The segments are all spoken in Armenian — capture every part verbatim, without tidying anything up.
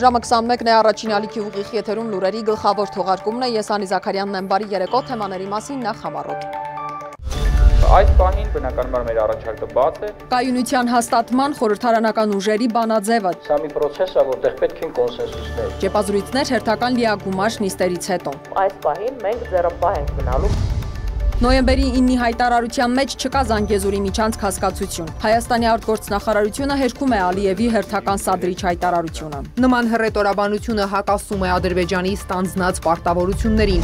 Ժամը քսանմեկն է, առաջին ալիքի ուղիղ եթերում լուրերի գլխավոր թողարկումն է, ես Անի Զաքարյանն եմ, բարի երեկո, թեմաների մասին նախ համառոտ։ Այս պահին բնականաբար մեր առաջարկը բաց է։ Կայունության հաստատման խորհրդարանական ուժերի բանաձևը։ Սա մի պրոցես է, որտեղ պետք են կոնսենսուսներ։ Ճեպազրույցներ հերթական լիագումար նիստերից հետո։ Այս պահին մենք ձեռնպահ ենք մնալու։ Նոյեմբերի իննի հայտարարության մեջ չկա Զանգեզուրի միջանցք հասկացություն։ Հայաստանի արտգործնախարարությունը հերքում է Ալիևի հերթական սադրիչ հայտարարությունը։ Նման հռետորաբանությունը հակասում է Ադրբեջանի ստանձնած պարտավորություններին։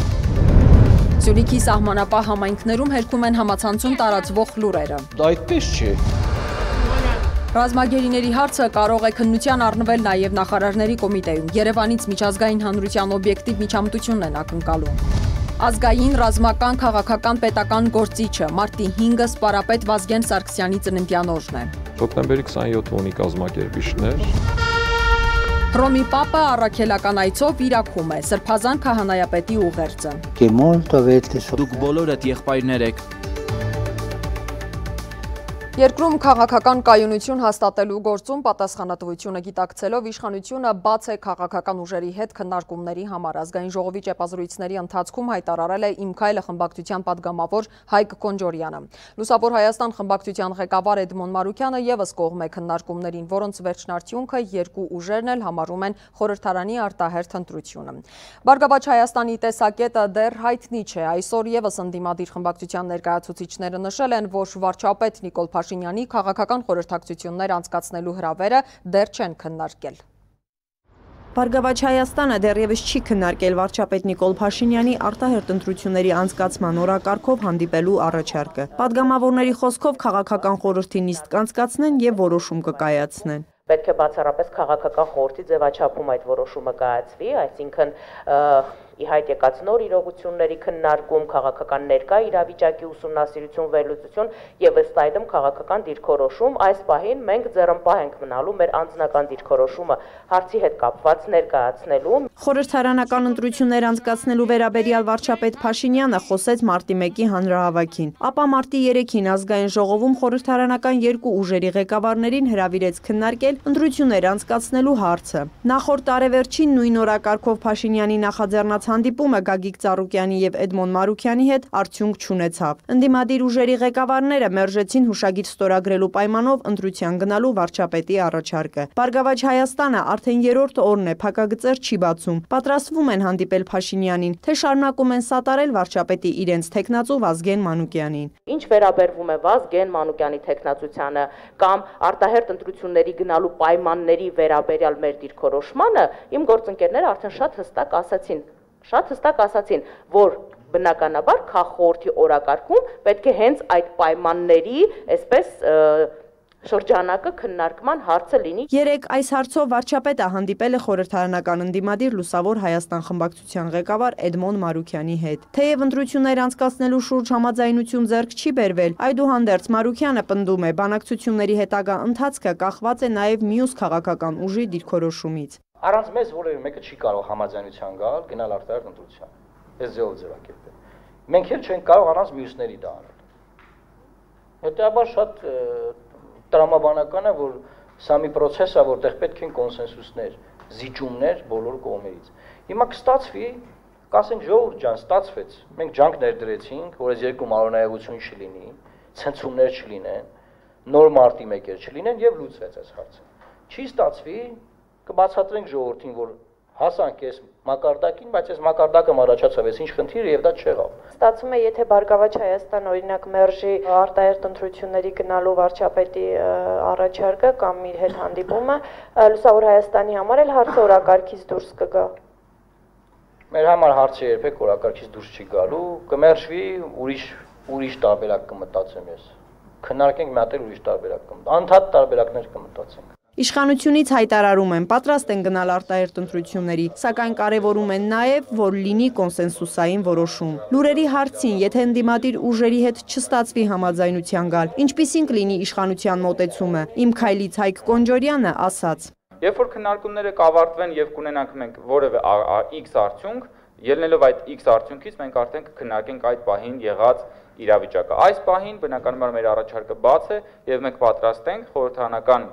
Սյունիքի սահմանապահ համայնքներում հերքում են համացանցում տարածվող լուրերը։ Դա այդպես չէ։ Ռազմագերիների հարցը կարող է քննության առնվել նաև նախարարների կոմիտեում։ Երևանից միջազգային հանրության օբյեկտիվ միջամտությունն են ակնկալում։ Ազգային, ռազմական, քաղաքական, պետական գործիչը մարտի հինգը սպարապետ Վազգեն Սարգսյանի ծննդյան օրն է։ Հոկտեմբերի քսաներկուսը ունի կազմակերպիչներ։ Հռոմի Պապը առաքելական այցով Իրաքում է, Սրբազան քահանայապետի ուղերձը։ Դուք բոլորդ եղբայրներ եք։ Երկրում քաղաքական կայունություն հաստատելու գործում պատասխանատվությունը գիտակցելով իշխանությունը բաց է քաղաքական ուժերի հետ քննարկումների համար։ Ազգային ժողովի ճեպազրույցների ընթացքում հայտարարել է Իմ քայլը խմբակցության պատգամավոր Հայկ Կոնջորյանը։ Լուսավոր Հայաստան խմբակցության ղեկավար Էդմոն Մարուկյանը ևս կողմ է քննարկումներին, որոնց վերջնարդյունքը երկու ուժերն էլ համարում են խորհրդարանի արտահերթ ընտրությունը։ Բարգավաճ Հայաստանի տեսակետը դեռ հայտնի չէ։ Այսօր ևս ընդդիմադիր խմբակցության ներկայացուցիչները նշել են, որ վարչապետ Նիկոլ Փաշինյանի քաղաքական խորհրդակցություններ անցկացնելու հրավերը դեռ չեն քննարկել։ Բարգավաճ Հայաստանը դեռևս չի քննարկել վարչապետ Նիկոլ Փաշինյանի արտահերթ ընտրությունների անցկացման օրակարգով հանդիպելու առաջարկը։ Պատգամավորների խոսքով քաղաքական խորհրդի նիստ կանցկացնեն եւ որոշում կկայացնեն։ Պետք է բացառապես քաղաքական խորհրդի ձևաչափում այդ որոշումը կայացվի, այսինքն ի հայտ եկած նոր իրողությունների քննարկում, քաղաքական ներկա իրավիճակի ուսումնասիրություն, վերլուծություն եւ ըստ այդմ քաղաքական դիրքորոշում։ Այս պահին մենք ձեռնպահ ենք մնալու մեր անձնական դիրքորոշումը հարցի հետ կապված ներկայացնելու։ Խորհրդարանական ընտրություններ անցկացնելու վերաբերյալ վարչապետ Փաշինյանը խոսեց մարտի մեկի հանրահավաքին, ապա մարտի երեքին ազգային ժողովում խորհրդարանական երկու ուժերի ղեկավարներին հրավիրեց քննարկել ընտրություններ անցկացնելու հարցը։ Նախորդ տարեվերջին նույն օրակարգով Փաշինյանի նախաձեռնած հանդիպումը Գագիկ Ծառուկյանի եւ Էդմոն Մարուկյանի հետ արդյունք չունեցավ։ Ընդդիմադիր ուժերի ղեկավարները մերժեցին հուշագիր ստորագրելու պայմանով ընտրության գնալու վարչապետի առաջարկը։ Բարգավաճ Հայաստանը արդեն երրորդ օրն է փակագծեր չի բացում։ Պատրաստվում են հանդիպել Փաշինյանին, թե շարունակում են սատարել վարչապետի իրենց թեկնածու Վազգեն Մանուկյանին։ Ինչ վերաբերվում է Վազգեն Մանուկյանի թեկնածությանը կամ արտահերթ ընտրությունների գնալու պայմանների վերաբերյալ մեր դիրքորոշմանը, իմ գործընկերները արդեն շատ հստակ ասացին, շատ հստակ ասացին, որ բնականաբար քաղաքորդի օրակարգում պետք է հենց այդ պայմանների, այսպես շրջանակը քննարկման հարցը լինի։ Երեք այս հարցով վարչապետը հանդիպել է խորհրդարանական ընդդիմադիր Լուսավոր Հայաստան խմբակցության ղեկավար Էդմոն Մարուկյանի հետ։ Թեև ընտրություններ անցկացնելու շուրջ համաձայնություն ձեռք չի բերվել, այդուհանդերձ Մարուկյանը պնդում է, բանակցությունների հետագա ընթացքը կախված է նաև մյուս քաղաքական ուժի դիրքորոշումից։ Առանց մեզ որևէ մեկը չի կարող համաձայնության գալ, գնալ արտահերթ ընտրության։ Այս ձևով ձևակերպել։ Մենք էլ չենք կարող առանց մյուսների դա անել։ Հետեւաբար շատ տրամաբանական է, որ սա մի պրոցես է, որտեղ պետք են կոնսենսուսներ, զիջումներ բոլոր կողմերից։ Հիմա կստացվի, կասենք ժողովուրդ ջան, ստացվեց։ Մենք ջանք ներդրեցինք, որ այս երկու մարոնայողություն չլինի, ցնցումներ չլինեն, նոր մարտի մեկեր չլինեն եւ լուծվեց այս հարցը։ Չի ստացվի, կբացատրենք ժողովրդին, որ հասանք այս մակարդակին, բայց այս մակարդակը առաջացավ, այս ինչ խնդիրը եւ դա չեղավ։ Ստացվում է, եթե Բարգավաճ Հայաստան օրինակ մերժի արտահերթ ընտրությունների գնալու վարչապետի առաջարկը կամ իր հետ հանդիպումը, Լուսավոր Հայաստանի համար էլ հարցը օրակարգից դուրս կգա։ Մեր համար հարցը երբեք օրակարգից դուրս չի գալու, կմերժվի, ուրիշ ուրիշ տարբերակ կմտածեմ ես։ Քննարկենք մի հատ էլ ուրիշ տարբերակ կմտածենք, անդադ տարբերակներ կմտածենք։ Իշխանությունից հայտարարում են, պատրաստ են գնալ արտահերթ ընտրությունների, սակայն կարևորում են նաև, որ լինի կոնսենսուսային որոշում։ Լուրերի հարցին, եթե ընդդիմադիր ուժերի հետ չստացվի համաձայնության գալ, ինչպիսին կլինի իշխանության մոտեցումը, Իմ քայլից Հայկ Կոնջորյանը ասաց. Երբ որ քննարկումները կավարտվեն եւ կունենանք մենք որևէ X արդյունք, ելնելով այդ X արդյունքից մենք արդեն կքննարկենք այդ պահին եղած իրավիճակը։ Այս պահին բնականաբար մեր առաջարկը բաց է եւ մենք պատրաստ ենք խորհրդարանական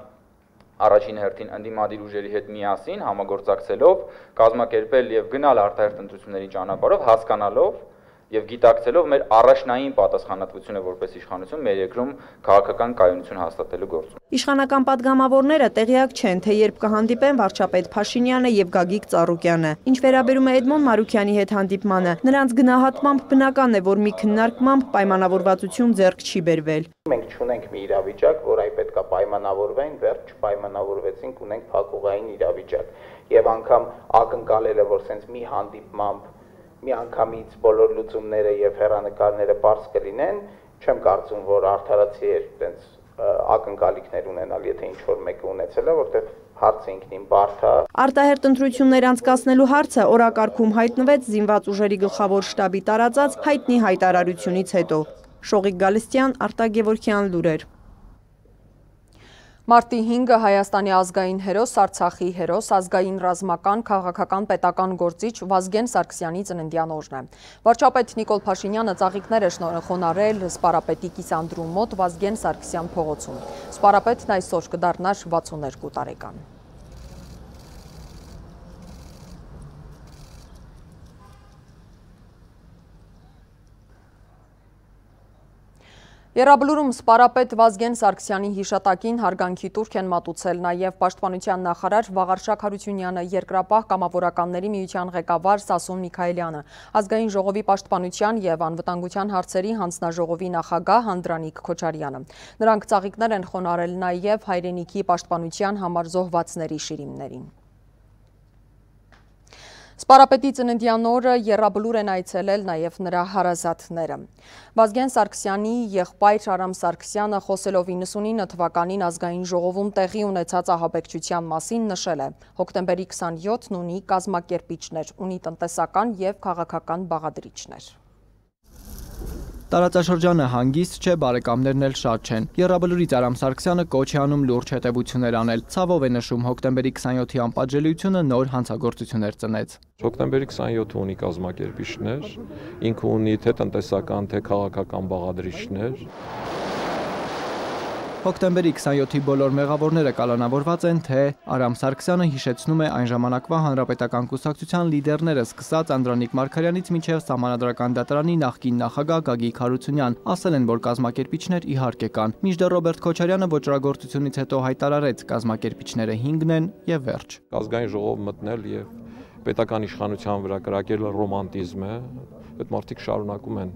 առաջին հերթին ընդդիմադիր ուժերի հետ միասին համագործակցելով կազմակերպել եւ գնալ արտահերթ ընտրությունների ճանապարհով, հասկանալով եւ գիտակցելով մեր առաջնային պատասխանատվությունը որպես իշխանություն մեր երկրում քաղաքական կայունություն հաստատելու գործում։ Իշխանական падգամավորները տեղյակ չեն, թե երբ կհանդիպեն վարչապետ Փաշինյանը եւ Գագիկ Ծառուկյանը։ Ինչ վերաբերում է Էդմոն Մարուքյանի հետ հանդիպմանը, նրանց գնահատմամբ բնական է, որ մի քննարկմամբ պայմանավորվածություն ձեռք չի բերվել։ Մենք չունենք մի իրավիճակ, որ այ պետքա պայմանավորվեն, վերջ չպայմանավորվեցինք, ունենք փակուղային իրավիճակ։ Եւ անգամ ակնկալելը, որ սենց մի հանդիպմամբ մի անգամից բոլոր լուծումները եւ հեռանկարները բարձ կլինեն, չեմ կարծում, որ արդարացի է այդպես ակնկալիքներ ունենալ, եթե ինչ որ մեկը ունեցել է, որտեղ հարցը ինքնին բարդ է։ Արտահերթ ընտրություններ անցկացնելու հարցը օրակարգում հայտնվեց զինված ուժերի գլխավոր շտաբի տարածած հայտնի հայտարարությունից հետո։ Շողիկ Գալստյան, Արտակ Գևորգյան լուրեր։ Մարտի հինգը Հայաստանի ազգային հերոս, Արցախի հերոս, ազգային ռազմական, քաղաքական, պետական գործիչ Վազգեն Սարգսյանի ծննդյան օրն է։ Վարչապետ Նիկոլ Փաշինյանը ծաղիկներ է շնորհել սպարապետի կիսանդրու մոտ Վազգեն Սարգսյան փողոցում։ Սպարապետն այսօր կդառնար վաթսուններկու տարեկան։ Եռաբլուրում սպարապետ Վազգեն Սարգսյանի հիշատակին հարգանքի տուրք են մատուցել նաև պաշտպանության նախարար Վաղարշակ Հարությունյանը, երկրապահ կամավորականների միության ղեկավար Սասուն Միքայելյանը, ազգային ժողովի պաշտպանության և անվտանգության հարցերի հանձնաժողովի նախագահ Հանդրանիկ Քոչարյանը։ Նրանք ծաղիկներ են խոնարհել նաև հայրենիքի պաշտպանության համար զոհվածների շիրիմներին։ Սպարապետի ծննդյան օրը եռաբլուր են այցելել նաև նրա հարազատները։ Վազգեն Սարգսյանի եղբայր Արամ Սարգսյանը խոսելով իննսունինը թվականին ազգային ժողովում տեղի ունեցած ահաբեկչության մասին նշել է. հոկտեմբերի քսանյոթն ունի կազմակերպիչներ, ունի տնտեսական և քաղաքական բաղադրիչներ։ Տարածաշրջանը հանգիստ չէ, բարեկամներն էլ շատ չեն։ Եռաբլուրից Արամ Սարգսյանը կոչ է անում լուրջ հետևություններ անել։ Ցավով է նշում հոկտեմբերի քսանյոթի անպատժելիությունը նոր հանցագործություններ ծնեց։ Հոկտեմբերի քսանյոթը ունի կազմակերպիչներ, ինքը ունի թե տնտեսական, թե քաղաքական բաղադրիչներ։ Հոկտեմբերի քսանյոթի բոլոր մեղավորները կալանավորված են, թե Արամ Սարգսյանը հիշեցնում է այն ժամանակվա հանրապետական կուսակցության լիդերները սկսած Անդրանիկ Մարգարյանից մինչև Սահմանադրական դատարանի նախկին նախագահ Գագիկ Հարությունյան, ասել են, որ կազմակերպիչներ իհարկե կան։ Մինչդեռ Ռոբերտ Քոչարյանը ոճրագործությունից հետո հայտարարեց, կազմակերպիչները հինգն են եւ վերջ։ Ազգային ժողով մտնել եւ պետական իշխանության վրա կրակել ռոմանտիզմ է, այդ մարդիկ շարունակում են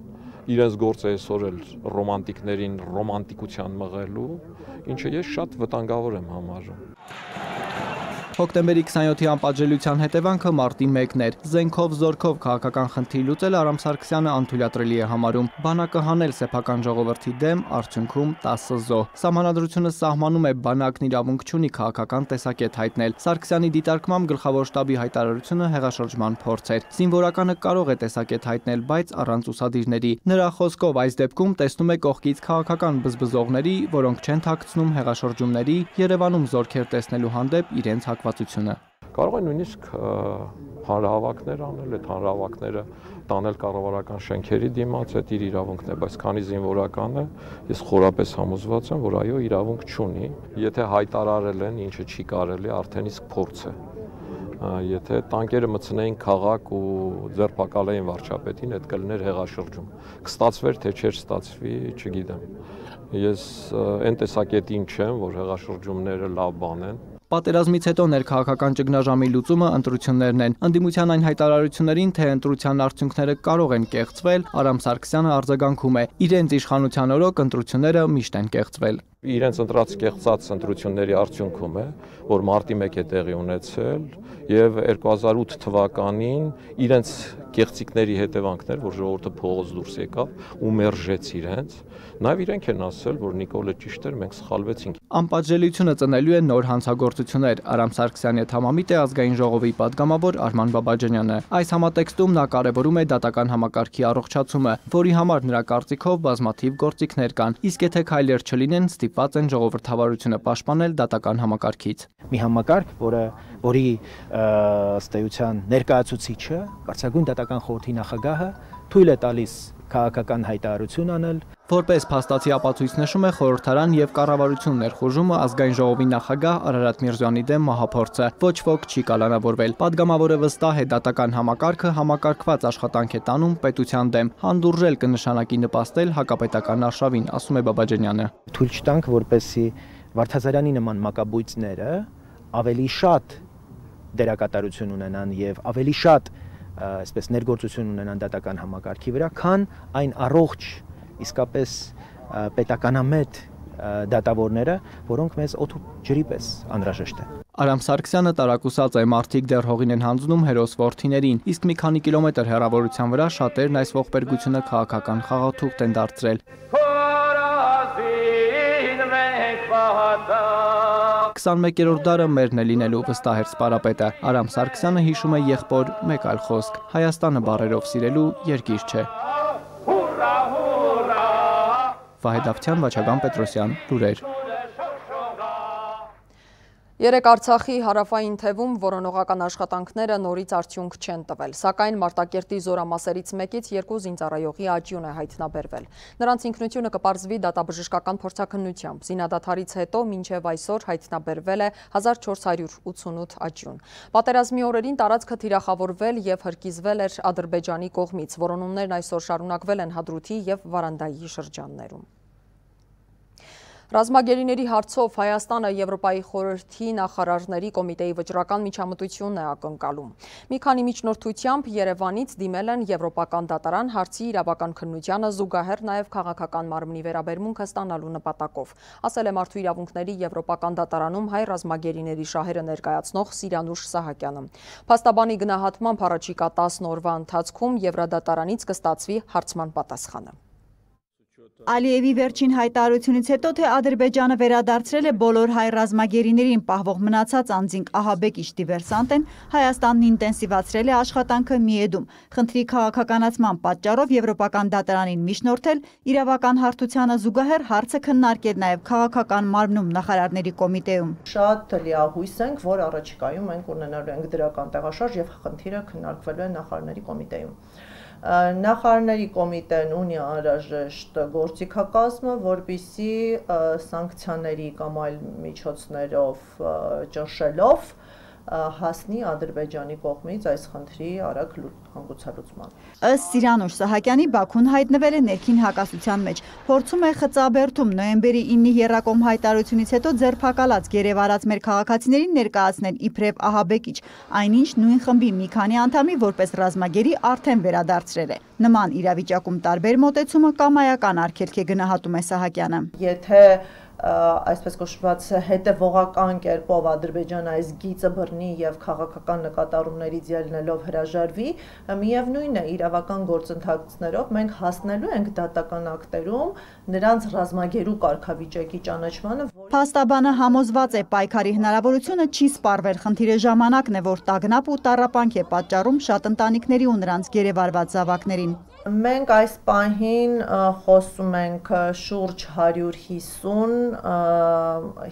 իրենց գործը այսօր էլ ռոմանտիկներին ռոմանտիկության մղելու, ինչը ես շատ վտանգավոր եմ համարում։ Հոկտեմբերի քսանյոթի անպատժելիության հետևանքը մարտի մեկն էր։ Զենքով, զորքով քաղաքական խնդիր լուծել Արամ Սարգսյանը անթույլատրելի է համարում։ Բանակը հանել սեփական ժողովրդի դեմ, արդյունքում տասը զոհ։ Սահմանադրությունը սահմանում է բանակն իրավունք չունի քաղաքական տեսակետ հայտնել։ Սարգսյանի դիտարկմամբ գլխավոր շտաբի հայտարարությունը հեղաշրջման փորձ էր։ Զինվորականը կարող է տեսակետ հայտնել, բայց առանց ուսադիրների։ Նրա խոսքով այս դեպքում տեսնում է կողքից քաղաքական բզբզողների, որոնք չեն թաքցնում հեղաշրջումների, Երևանում զորքեր տեսնելու հանդեպ իրենց հակվածությունը։ Կարող է նույնիսկ հանրահավաքներ անել, այդ հանրահավաքները տանել կառավարական շենքերի դիմաց, այդ իր իրավունքն է, բայց քանի զինվորական է, ես խորապես համոզված եմ, որ այո, իրավունք չունի, եթե հայտարարել են, ինչը չի կարելի, արդեն իսկ փորձ է։ Եթե տանկերը մտցնեին քաղաք ու ձերբակալեին վարչապետին, այդ կլիներ հեղաշրջում։ Կստացվեր, թե չէր ստացվի, չգիտեմ։ Ես այն տեսակետին չեմ, որ հեղաշրջումները լավ բան են։ Պատերազմից հետո ներքաղաքական ճգնաժամի լուծումը ընտրություններն են։ Ընդդիմության այն հայտարարություններին, թե ընտրության արդյունքները կարող են կեղծվել, Արամ Սարգսյանը արձագանքում է. իրենց իշխանության օրոք ընտրությունները միշտ են կեղծվել։ Իրենց ընտրած կեղծած ընտրությունների արդյունքում է, որ մարտի մեկ է տեղի ունեցել եւ երկու հազար ութ թվականին իրենց կեղծիքների հետևանքներ, որ ժողովուրդը փողոց դուրս եկավ ու մերժեց իրենց, նաեւ իրենք են ասել, որ Նիկոլը ճիշտ էր, մենք սխալվեցինք։ Անպատժելիությունը ծնելու է նոր հանցագործություններ։ Արամ Սարգսյանի հետ համամիտ է ազգային ժողովի падգամավոր Արման Բաբաջանյանը։ Այս համատեքստում նա կարևորում է դատական համակարգի առողջացումը, որի համար նրա կարծիքով բազմաթիվ գործիքներ կան, իսկ եթե քայլեր չլինեն, ստիպված են ժողովրդավարությունը պաշտպանել դատական համակարգից։ Մի համակարգ, որը որի ըստ էության ներկայացուցիչը, Կարգավիճակ դատական խորհրդի նախագահը թույլ է տալիս քաղաքական հայտարարություն անել։ Որպես փաստացի ապացույց նշում է խորհրդարան եւ կառավարություն ներխուժումը ազգային ժողովի նախագահ Արարատ Միրզոյանի դեմ մահափորձը։ Ոչ ոք չի կալանավորվել։ Պատգամավորը վստահ է դատական համակարգը համակարգված աշխատանք է տանում պետության դեմ։ Հանդուրժել կնշանակի նպաստել հակապետական արշավին, ասում է Բաբաջանյանը։ Թույլ չտանք, որպեսզի Վարդազարյանի նման մակաբույծները ավելի շատ դերակատարություն ունենան եւ ավելի շատ այսպես ներգործություն ունենան դատական համակարգի վրա, քան այն առողջ իսկապես պետականամետ դատավորները, որոնք մեզ օդ ու ջրի պես անհրաժեշտ են։ Արամ Սարգսյանը տարակուսած է մարդիկ դեռ հողին են հանձնում հերոս որդիներին, իսկ մի քանի կիլոմետր հեռավորության վրա շատերն այս ողբերգությունը քաղաքական խաղաթուղթ են դարձրել։ քսանմեկերորդ դարը մերն է լինելու, վստահ էր սպարապետը։ Արամ Սարգսյանը հիշում է եղբոր մեկ այլ խոսք. Հայաստանը բառերով սիրելու երկիր չէ։ Վահե Դավթյան, Վաչագան Պետրոսյան, լուրեր։ Երեկ Արցախի հարավային թևում որոնողական աշխատանքները նորից արդյունք չեն տվել, սակայն Մարտակերտի զորամասերից մեկից երկու զինծառայողի աճյուն է հայտնաբերվել։ Նրանց ինքնությունը կպարզվի դատաբժշկական փորձաքննությամբ։ Զինադադարից հետո մինչև այսօր հայտնաբերվել է հազար չորս հարյուր ութսունութ աճյուն։ Պատերազմի օրերին տարածքը թիրախավորվել եւ հրկիզվել էր Ադրբեջանի կողմից։ Որոնումներն այսօր շարունակվել են Հադրութի եւ Վարանդայի շրջաններում։ Ռազմագերիների հարցով Հայաստանը Եվրոպայի խորհրդի նախարարների կոմիտեի վճռական միջամտությունն է ակնկալում։ Մի քանի միջնորդությամբ Երևանից դիմել են Եվրոպական դատարան հարցի իրավական քննությանը զուգահեռ նաև քաղաքական մարմնի վերաբերմունքը ստանալու նպատակով, ասել է Մարդու իրավունքների Եվրոպական դատարանում հայ ռազմագերիների շահերը ներկայացնող Սիրանուշ Սահակյանը։ Փաստաբանի գնահատմամբ առաջիկա տասն օրվա ընթացքում Եվրադատարանից կստացվի հարցման պատասխանը։ Ալիևի վերջին հայտարարությունից հետո, թե Ադրբեջանը վերադարձրել է բոլոր հայ ռազմագերիներին պահվող մնացած անձինք ահաբեկիչ դիվերսանտ են, Հայաստանն ինտենսիվացրել է աշխատանքը Միեդում, խնդրի քաղաքականացման պատճառով Եվրոպական դատարանին միջնորդել, իրավական հարթությանը զուգահեռ հարցը քննարկել նաև քաղաքական մարմնում նախարարների կոմիտեում։ Շատ լիահույս ենք, որ առաջիկայում մենք ունենալու ենք դրական տեղաշարժ եւ խնդիրը քննարկվելու է նախարարների կոմիտեում։ Նախարարների կոմիտեն ունի անհրաժեշտ գործիքակազմը, որպեսզի սանկցիաների կամ այլ միջոցներով ճնշելով հասնի Ադրբեջանի կողմից այս խնդրի արագ հանգուցալուծման։ Ըստ Սիրանուշ Սահակյանի, Բաքուն հայտնվել է ներքին հակասության մեջ, փորձում է խծաբերդում նոյեմբերի ինի եռակոմ հայտարարությունից հետո ձերբակալած գերեվարած մեր քաղաքացիներին ներկայացնել իբրև ահաբեկիչ, այնինչ նույն խմբի մի քանի անդամի որպես ռազմագերի արդեն վերադարձրել է։ Նման իրավիճակում տարբեր մոտեցումը կամայական արգելք է, գնահատում է Սահակյանը։ Եթե այսպես կոչված հետևողական կերպով Ադրբեջանը այս գիծը բռնի եւ քաղաքական նկատառումներից ելնելով հրաժարվի, միևնույն է իրավական գործընթացներով մենք հասնելու ենք դատական ակտերում նրանց ռազմագերու կարգավիճակի ճանաչմանը։ Փաստաբանը համոզված է, պայքարի հնարավորությունը չի սպառվել, խնդիրը ժամանակն է, որ տագնապ ու տառապանք է պատճառում շատ ընտանիքների ու նրանց գերեվարված զավակներին։ Մենք այս պահին խոսում ենք շուրջ հարյուր հիսուն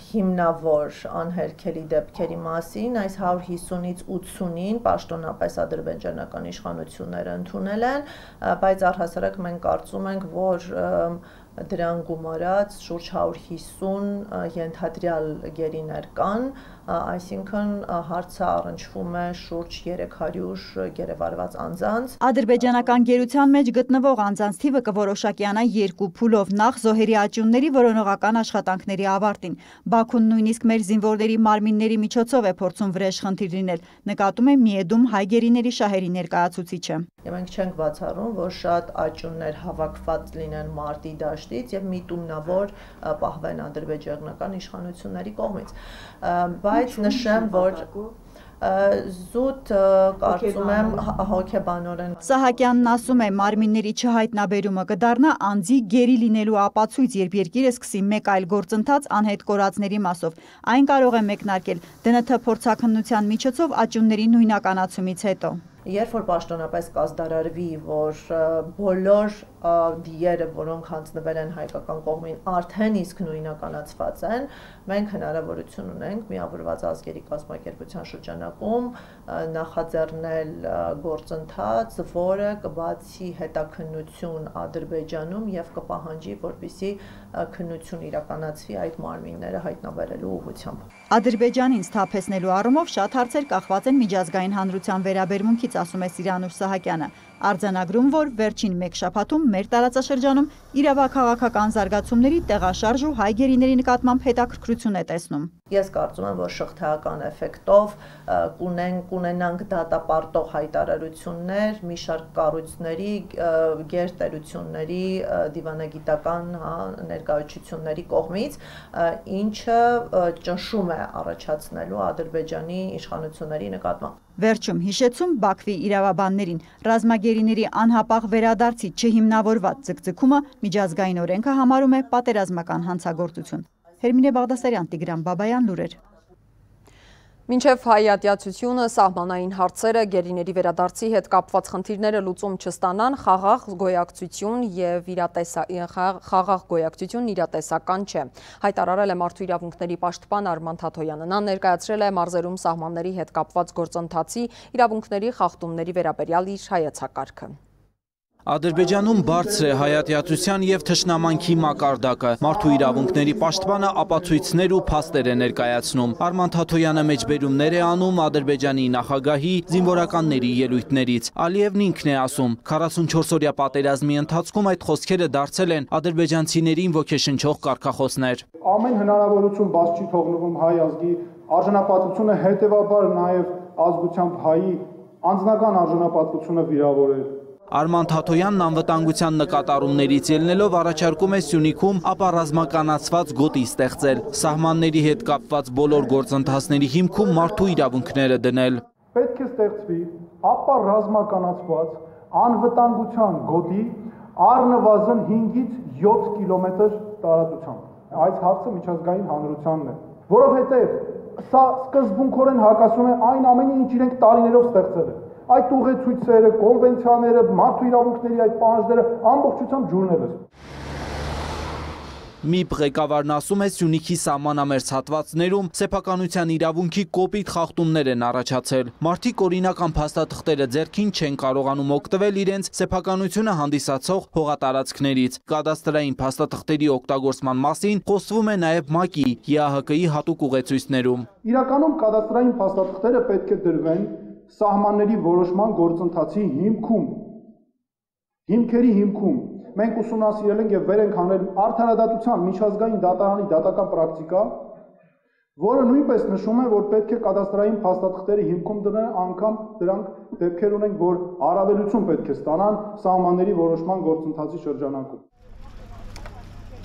հիմնավոր անհերքելի դեպքերի մասին, այս հարյուր հիսունից ութսունին պաշտոնապես ադրբեջանական իշխանությունները ընդունել են, բայց առհասարակ մենք կարծում ենք, որ դրան գումարած շուրջ հարյուր հիսուն ենթադրյալ գերիներ կան, այսինքն հարցը առնչվում է շուրջ երեք հարյուր գերեվարված անձանց։ Ադրբեջանական գերության մեջ գտնվող անձանց թիվը կորոշակյանա երկու փուլով, նախ զոհերի աճյունների որոնողական աշխատանքների ավարտին։ Բաքուն նույնիսկ մեր զինվորների մարմինների միջոցով է փորձում վրեժ խնդիր լինել, նկատում է Միեդում հայ գերիների շահերի ներկայացուցիչը։ Մենք չենք բացառում, որ շատ աճյուններ հավաքված լինեն մարտի դաշտից եւ միտումնավոր պահվեն ադրբեջանական իշխանությունների կողմից։ Բայց նշեմ, որ զուտ կարծում եմ հոգեբանորեն։ Սահակյանն ասում է, մարմինների չհայտնաբերումը կդառնա անձի գերի լինելու ապացույց, երբ երկիրը սկսի մեկ այլ գործընթաց անհետ կորածների մասով։ Այն կարող է մեկնարկել դե են թ փորձաքննության միջոցով աճյունների նույնականացումից հետո։ Երբ որ պաշտոնապես կազդարարվի, որ բոլոր դիերը, որոնք հանձնվել են հայկական կողմին, արդեն իսկ նույնականացված են, մենք հնարավորություն ունենք միավորված ազգերի կազմակերպության շրջանակում նախաձեռնել գործընթաց, որը կբացի հետաքննություն Ադրբեջանում եւ կպահանջի, որպեսզի քննություն իրականացվի այդ մարմինները հայտնաբերելու ուղղությամբ։ Ադրբեջանին սթափեցնելու առումով շատ հարցեր կախված են միջազգային հանրության վերաբերմունքից, ասում է Սիրանուշ Սահակյանը, արձանագրում, որ վերջին մեկ շաբաթում մեր տարածաշրջանում իրավաքաղաքական զարգացումների տեղաշարժ ու հայ գերիների նկատմամբ հետաքրքրություն է տեսնում։ Ես կարծում եմ, որ շղթայական էֆեկտով կունենանք դատապարտող հայտարարություններ մի շարք կառույցների, գերտերությունների, դիվանագիտական ներկայացությունների կողմից, ինչը ճնշում է առաջացնելու Ադրբեջանի իշխանությունների նկատմամբ։ Վերջում հիշեցում Բաքվի իրավաբաններին, ռազմագերիների անհապաղ վերադարձի չհիմնավորված ձգձգումը միջազգային օրենքը համարում է պատերազմական հանցագործություն։ Հերմինե Բաղդասարյան, Տիգրան Բաբայան, լուրեր։ Մինչև հայատյացությունը սահմանային հարցերը գերիների վերադարձի հետ կապված խնդիրները լուծում չստանան, խաղաղ գոյակցություն եւ խաղաղ գոյակցությունն իրատեսական չէ։ Հայտարարել է Մարդու իրավունքների պաշտպան Արման Թաթոյանը։ Նա ներկայացրել է մարզերում սահմանների հետ կապված գործընթացի իրավունքների խախտումների վերաբերյալ իր հայեցակարգը։ Ադրբեջանում բարձր է հայատյացության եւ թշնամանքի մակարդակը։ Մարդու իրավունքների պաշտպանը ապացույցներ ու փաստեր է ներկայացնում։ Արման Թաթոյանը մեջբերումներ է անում Ադրբեջանի նախագահի զինվորականների ելույթներից։ Ալիևն ինքն է ասում, քառասունչորս-օրյա պատերազմի ընթացքում այդ խոսքերը դարձել են ադրբեջանցիներին ոգեշնչող կարգախոսներ։ Ամեն հնարավորություն բաց չի թողնվում հայ ազգի արժանապատվությունը, հետևաբար նաեւ ազգությամբ հայի անձնական արժանապատվությունը վիրավորել։ Արման Թաթոյանն անվտանգության նկատառումներից ելնելով առաջարկում է Սյունիքում ապառազմականացված գոտի ստեղծել, սահմանների հետ կապված բոլոր գործընթացների հիմքում մարդու իրավունքները դնել։ Պետք է ստեղծվի ապառազմականացված անվտանգության գոտի առնվազն հինգից յոթ կիլոմետր տարածությամբ։ Այս հարցը միջազգային հանրությանն է, որովհետև սա սկզբունքորեն հակասում է այն ամենին, ինչ իրենք տարիներով ստեղծել են։ Այդ ուղեցույցերը, կոնվենցիաները, մարդու իրավունքների այդ պահանջները ամբողջությամբ ջուրնել են։ ՄԻՊ ղեկավարն ասում է, Սյունիքի սահմանամերձ հատվածներում սեփականության իրավունքի կոպիտ խախտումներ են առաջացել։ Մարդիկ օրինական փաստաթղթերը ձեռքին չեն կարողանում օգտվել իրենց սեփականությունը հանդիսացող հողատարածքներից։ Կադաստրային փաստաթղթերի օգտագործման մասին խոսվում է նաև ՄԱԿ-ի, ԵԱՀԿ-ի հատուկ ուղեցույցներում։ Իրականում կադաստրային փաստաթղթերը պետք է դրվեն սահմանների որոշման գործընթացի հիմքում, հիմքերի հիմքում։ Մենք ուսումնասիրել ենք եւ վեր ենք հանել արդարադատության միջազգային դատարանի դատական պրակտիկա, որը նույնպես նշում է, որ պետք է կադաստրային փաստաթղթերի հիմքում դնել անգամ դրանք դեպքեր ունենք, որ առավելություն պետք է ստանան սահմանների որոշման գործընթացի շրջանակում։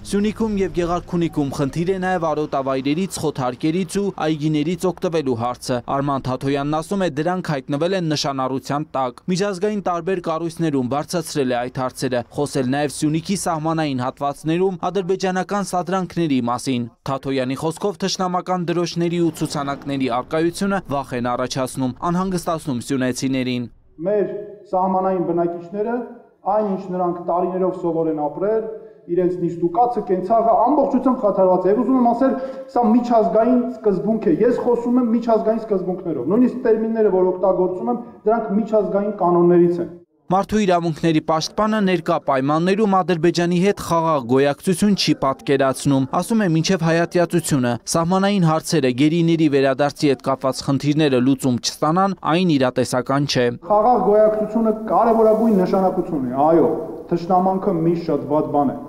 Սյունիքում եւ Գեղարքունիքում խնդիր է նաեւ արոտավայրերից, խոթարկերից ու այգիներից օգտվելու հարցը։ Արման Թաթոյանն ասում է, դրանք հայտնվել են նշանառության տակ։ Միջազգային տարբեր կառույցներում բարձրացրել է այդ հարցերը, խոսել նաեւ Սյունիքի սահմանային հատվածներում ադրբեջանական սադրանքների մասին։ Թաթոյանի խոսքով թշնամական դրոշների ու ցուցանակների արկայությունը վախ են առաջացնում, անհանգստացնում սյունեցիներին։ Մեր սահմանային բնակիչները, այնինչ նրանք տարիներով սովոր են ապրել, իրենց նիստուկացը, կենցաղը ամբողջությամբ խաթարված է։ Եվ ուզում եմ ասել, սա միջազգային սկզբունք է։ Ես խոսում եմ միջազգային սկզբունքներով։ Նույնիսկ տերմինները, որ օգտագործում եմ, դրանք միջազգային կանոններից են։ Մարդու իրավունքների պաշտպանը ներկա պայմաններում Ադրբեջանի հետ խաղաղ գոյակցություն չի պատկերացնում։ Ասում է, մինչև հայատյացությունը սահմանային հարցերը, գերիների վերադարձի հետ կապված խնդիրները լուծում չստանան, այն իրատեսական չէ։ Խաղաղ գոյակցությունը կարևորագույն նշանակություն ունի, այո, թշնամանքը միշտ շատ վատ բան է։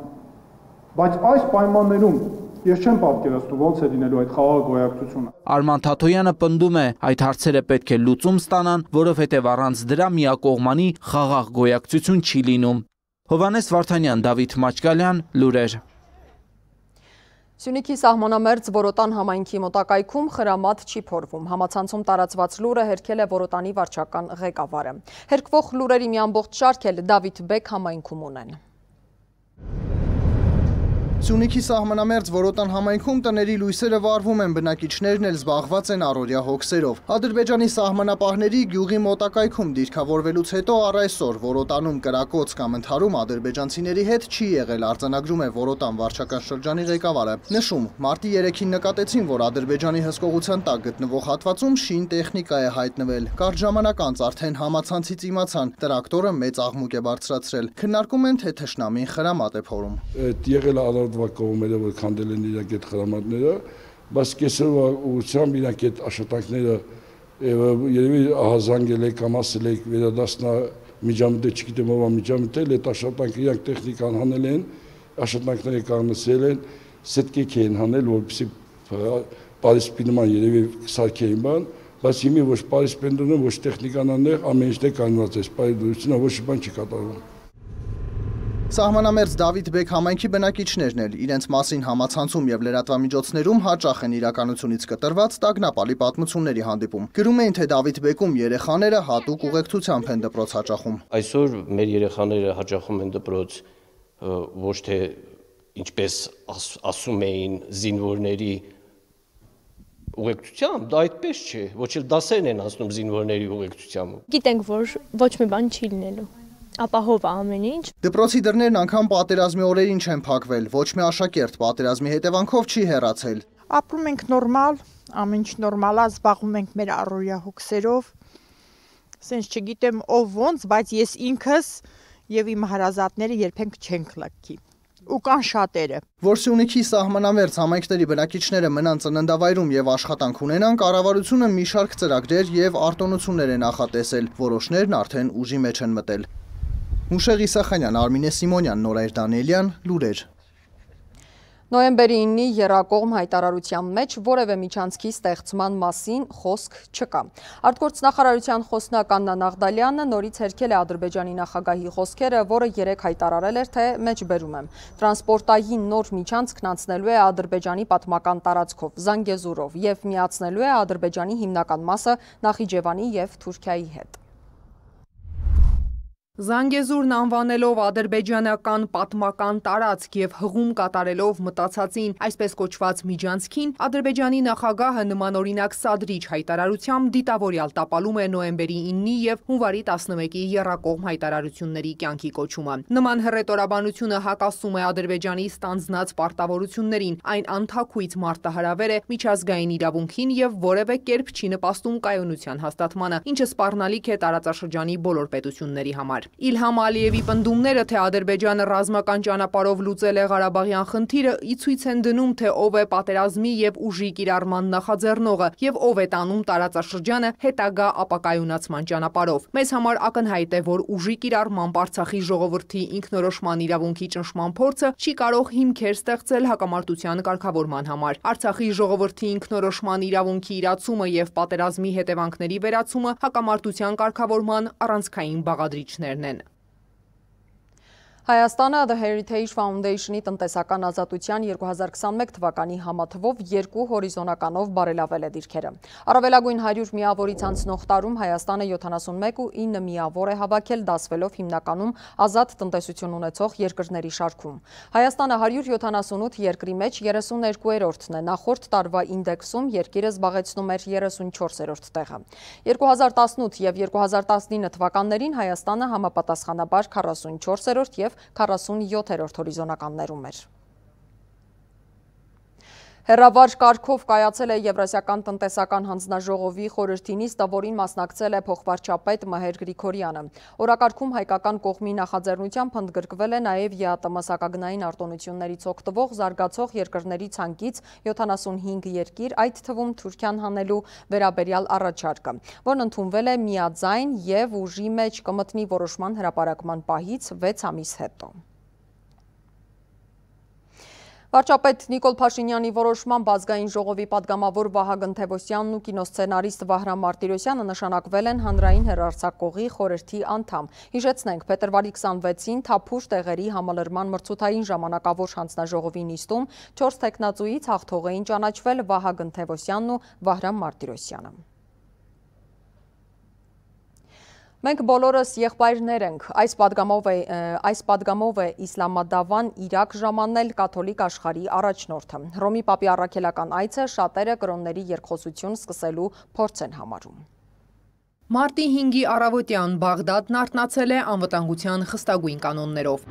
Բայց այս պայմաններում ես չեմ պատկերացնում ոնց է լինելու այդ խաղաղ գոյակցությունը։ Արման Թաթոյանը պնդում է, այդ հարցերը պետք է լուծում ստանան, որովհետև առանց դրա միակողմանի խաղաղ գոյակցություն չի լինում։ Հովհաննես Վարդանյան, Դավիթ Մաչկալյան, լուրեր։ Սյունիքի սահմանամերձ Որոտան համայնքի մոտակայքում խրամատ չի փորվում։ Համացանցում տարածված լուրը հերքել է Որոտանի վարչական ղեկավարը։ Հերկվող լուրերի մի ամբողջ շարք էլ Դավիթ Բեկ համայնքում ունեն։ Սյունիքի սահմանամերձ Որոտան համայնքում տների լույսերը վառվում են, բնակիչներն էլ զբաղված են առօրյա հոգսերով։ Ադրբեջանի սահմանապահների գյուղի մոտակայքում դիրքավորվելուց հետո առ այսօր Որոտանում կրակոց կամ ընդհարում ադրբեջանցիների հետ չի եղել, արձանագրում է Որոտան վարչական շրջանի ղեկավարը։ Նշում, մարտի երեքին նկատեցին, որ Ադրբեջանի հսկողության տակ գտնվող հատվածում շին տեխնիկա է հայտնվել։ Կարճ ժամանակ անց արդեն համացանցից իմացան, տրակտորը մեծ աղմուկ է բարձրացրել։ Քննարկում են, թե թշնամին խրամատ է փորում։ Եղել արարդվա կողմերը, որ քանդել են իրենք այդ խրամատները, բայց կեսրվա ուղղությամբ իրենք այդ աշխատանքները երևի ահազանգել է կամ ասել է վերադասնա միջամտել, չգիտեմ ով է միջամտել, այդ աշխատանքը իրենք տեխնիկան հանել են, աշխատանքները կանգնեցրել են, սետկեք են հանել, որպեսզի պարիսպի նման երևի սարքեին բան, բայց հիմի ոչ պարիսպեն դնում, ոչ տեխնիկան անեղ, ամեն ինչն է կանգնված է, սպայդուրությունը ոչ բան չի կատարվում։ Սահմանամերձ Դավիթ Բեկ համայնքի բնակիչներն էլ իրենց մասին համացանցում եւ լրատվամիջոցներում հաճախ են իրականությունից կտրված տագնապալի պատմությունների հանդիպում։ Գրում էին, թե Դավիթ Բեկում երեխաները հատուկ ուղեկցությամբ են դպրոց հաճախում։ Այսօր մեր երեխաները հաճախում են դպրոց ոչ թե ինչպես ասում էին զինվորների ուղեկցությամբ, դա այդպես չէ, ոչ էլ դասերն են անցնում զինվորների ուղեկցությամբ։ Գիտենք, որ ոչ մի բան չի լինելու։ Ապահով է ամեն ինչ։ Դպրոցի դռներն անգամ պատերազմի օրերին չեն փակվել, ոչ մի աշակերտ պատերազմի հետևանքով չի հեռացել։ Ապրում ենք նորմալ, ամեն ինչ նորմալ է, զբաղվում ենք մեր առօրյա հոգսերով։ Սենց չգիտեմ ով ոնց, բայց ես ինքս եւ իմ հարազատները երբեք չենք լքի։ Ու կան շատերը։ Որ Սյունիքի սահմանամերձ համայնքների բնակիչները մնան ծննդավայրում եւ աշխատանք ունենան, կառավարությունը մի շարք ծրագրեր եւ արտոնություններ է նախատեսել, որոշներն արդեն ուժի մեջ են մտել։ Մուշեղ Իսախանյան, Արմինե Սիմոնյան, Նորայր Դանիելյան, լուրեր։ Նոյեմբերի իննի եռակողմ հայտարարության մեջ որևէ միջանցքի ստեղծման մասին խոսք չկա։ Արտգործնախարարության խոսնակ Աննա Նաղդալյանը նորից հերքել է Ադրբեջանի նախագահի խոսքերը, որը երեկ հայտարարել էր, թե մեջբերում եմ։ Տրանսպորտային նոր միջանցքն անցնելու է Ադրբեջանի պատմական տարածքով, Զանգեզուրով եւ միացնելու է Ադրբեջանի հիմնական մասը Նախիջևանի եւ Թուրքիայի հետ։ Զանգեզուրն անվանելով ադրբեջանական պատմական տարածք եւ հղում կատարելով մտածածին այսպես կոչված միջանցքին, Ադրբեջանի նախագահը նմանօրինակ սադրիչ հայտարարությամբ դիտավորյալ տապալում է նոյեմբերի իննի եւ հունվարի տասնմեկի եռակողմ հայտարարությունների կյանքի կոչումը։ Նման հռետորաբանությունը հակասում է Ադրբեջանի ստանձնած պարտավորություններին, այն անթաքույց մարտահրավեր է միջազգային իրավունքին եւ որևէ կերպ չի նպաստում կայունության հաստատմանը, ինչը սպառնալիք է տարածաշրջանի բոլոր պետությունների համար։ Իլհամ Ալիևի պնդումները, թե Ադրբեջանը ռազմական ճանապարհով լուծել է Ղարաբաղյան խնդիրը, ի ցույց են դնում, թե ով է պատերազմի եւ ուժի կիրառման նախաձեռնողը եւ ով է տանում տարածաշրջանը հետագա ապակայունացման ճանապարհով։ Մեզ համար ակնհայտ է, որ ուժի կիրառման Արցախի ժողովրդի ինքնորոշման իրավունքի ճնշման փորձը չի կարող հիմքեր ստեղծել հակամարտության կարգավորման համար։ Արցախի ժողովրդի ինքնորոշման իրավունքի իրացումը եւ պատերազմի հետևանքների վերացումը հակամարտության կարգավորման առանցքային բաղադրիչներ են։ Հայաստանը The Heritage Foundation-ի տնտեսական ազատության երկու հազար քսանմեկ թվականի համատվով երկու հորիզոնականով բարելավել է դիրքերը։ Առավելագույն հարյուր միավորից անցնող տարում Հայաստանը յոթանասունմեկ ու ինը միավոր է հավաքել, դասվելով հիմնականում ազատ տնտեսություն ունեցող երկրների շարքում։ Հայաստանը հարյուր յոթանասունութ երկրի մեջ երեսուներկուերորդն է, նախորդ տարվա ինդեքսում երկիրը զբաղեցնում էր երեսունչորսերորդ տեղը։ երկու հազար տասնութ եւ երկու հազար տասնինը թվականներին Հայաստանը համապատասխանաբար քառասունչորսերորդ եւ քառասունյոթերորդ հորիզոնականներում էր։ Հեռավար կարգով կայացել է Եվրասիական տնտեսական հանձնաժողովի խորհրդի նիստը, որին մասնակցել է փոխվարչապետ Մհեր Գրիգորյանը։ Օրակարգում հայկական կողմի նախաձեռնությամբ ընդգրկվել է նաև ԵԱՏՄ սակագնային արտոնություններից օգտվող զարգացող երկրների ցանկից յոթանասունհինգ երկիր, այդ թվում Թուրքիան հանելու վերաբերյալ առաջարկը, որն ընդունվել է միաձայն եւ ուժի մեջ կմտնի որոշման հրապարակման պահից վեց ամիս հետո։ Վարչապետ Նիկոլ Փաշինյանի որոշմամբ ազգային ժողովի պատգամավոր Վահագն Թևոսյանն ու կինոսցենարիստ Վահրամ Մարտիրոսյանը նշանակվել են հանրային հեռարձակողի խորհրդի անդամ։ Հիշեցնենք, փետրվարի քսանվեցին Թափուր տեղերի համալրման մրցութային ժամանակավոր հանձնաժողովի նիստում չորս թեկնածուից հաղթող էին ճանաչվել Վահագն Թևոսյանն ու Վահրամ Մարտիրոսյանը։ Մենք բոլորս եղբայրներ ենք, այս պատգամով է, այս պատգամով է իսլամադավան Իրաք ժամանել կաթոլիկ աշխարհի առաջնորդը։ Հռոմի Պապի առաքելական այցը շատերը կրոնների երկխոսություն սկսելու փորձ են համարում։ Մարտի հինգի առավոտյան Բաղդադն արթնացել է անվտանգության խստագույն կանոններով։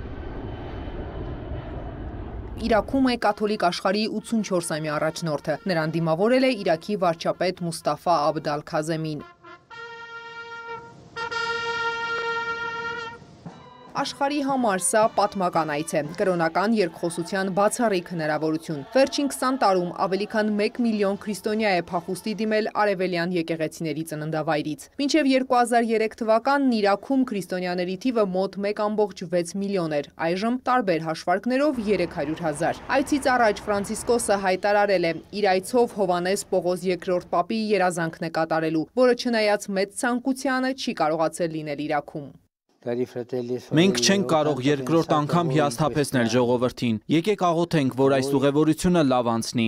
Իրաքում է կաթոլիկ աշխարհի ութսունչորսամյա առաջնորդը։ Նրան դիմավորել է Իրաքի վարչապետ Մուստաֆա Աբդ Ալ-Քազեմին։ Աշխարհի համար սա պատմական այց է, կրոնական երկխոսության բացառիկ հնարավորություն։ Վերջին քսան տարում ավելի քան մեկ միլիոն քրիստոնյա է փախուստի դիմել արևելյան եկեղեցիների ծննդավայրից։ Մինչև երկու հազար երեք թվականն Իրաքում քրիստոնյաների թիվը մոտ մեկ կόμկոմ վեց միլիոն էր, այժմ տարբեր հաշվարկներով երեք հարյուր հազար։ Այցից առաջ Ֆրանցիսկոսը հայտարարել է, իր այցով Հովհաննես Պողոս երկրորդ Պապի երազանքն է կատարելու, որը չնայած մեծ ցանկությանը չի կարողացել լինել Իրաքում։ Մենք չենք կարող երկրորդ անգամ հիասթափեցնել ժողովրդին։ Եկեք աղոթենք, որ այս ուղևորությունը լավ անցնի։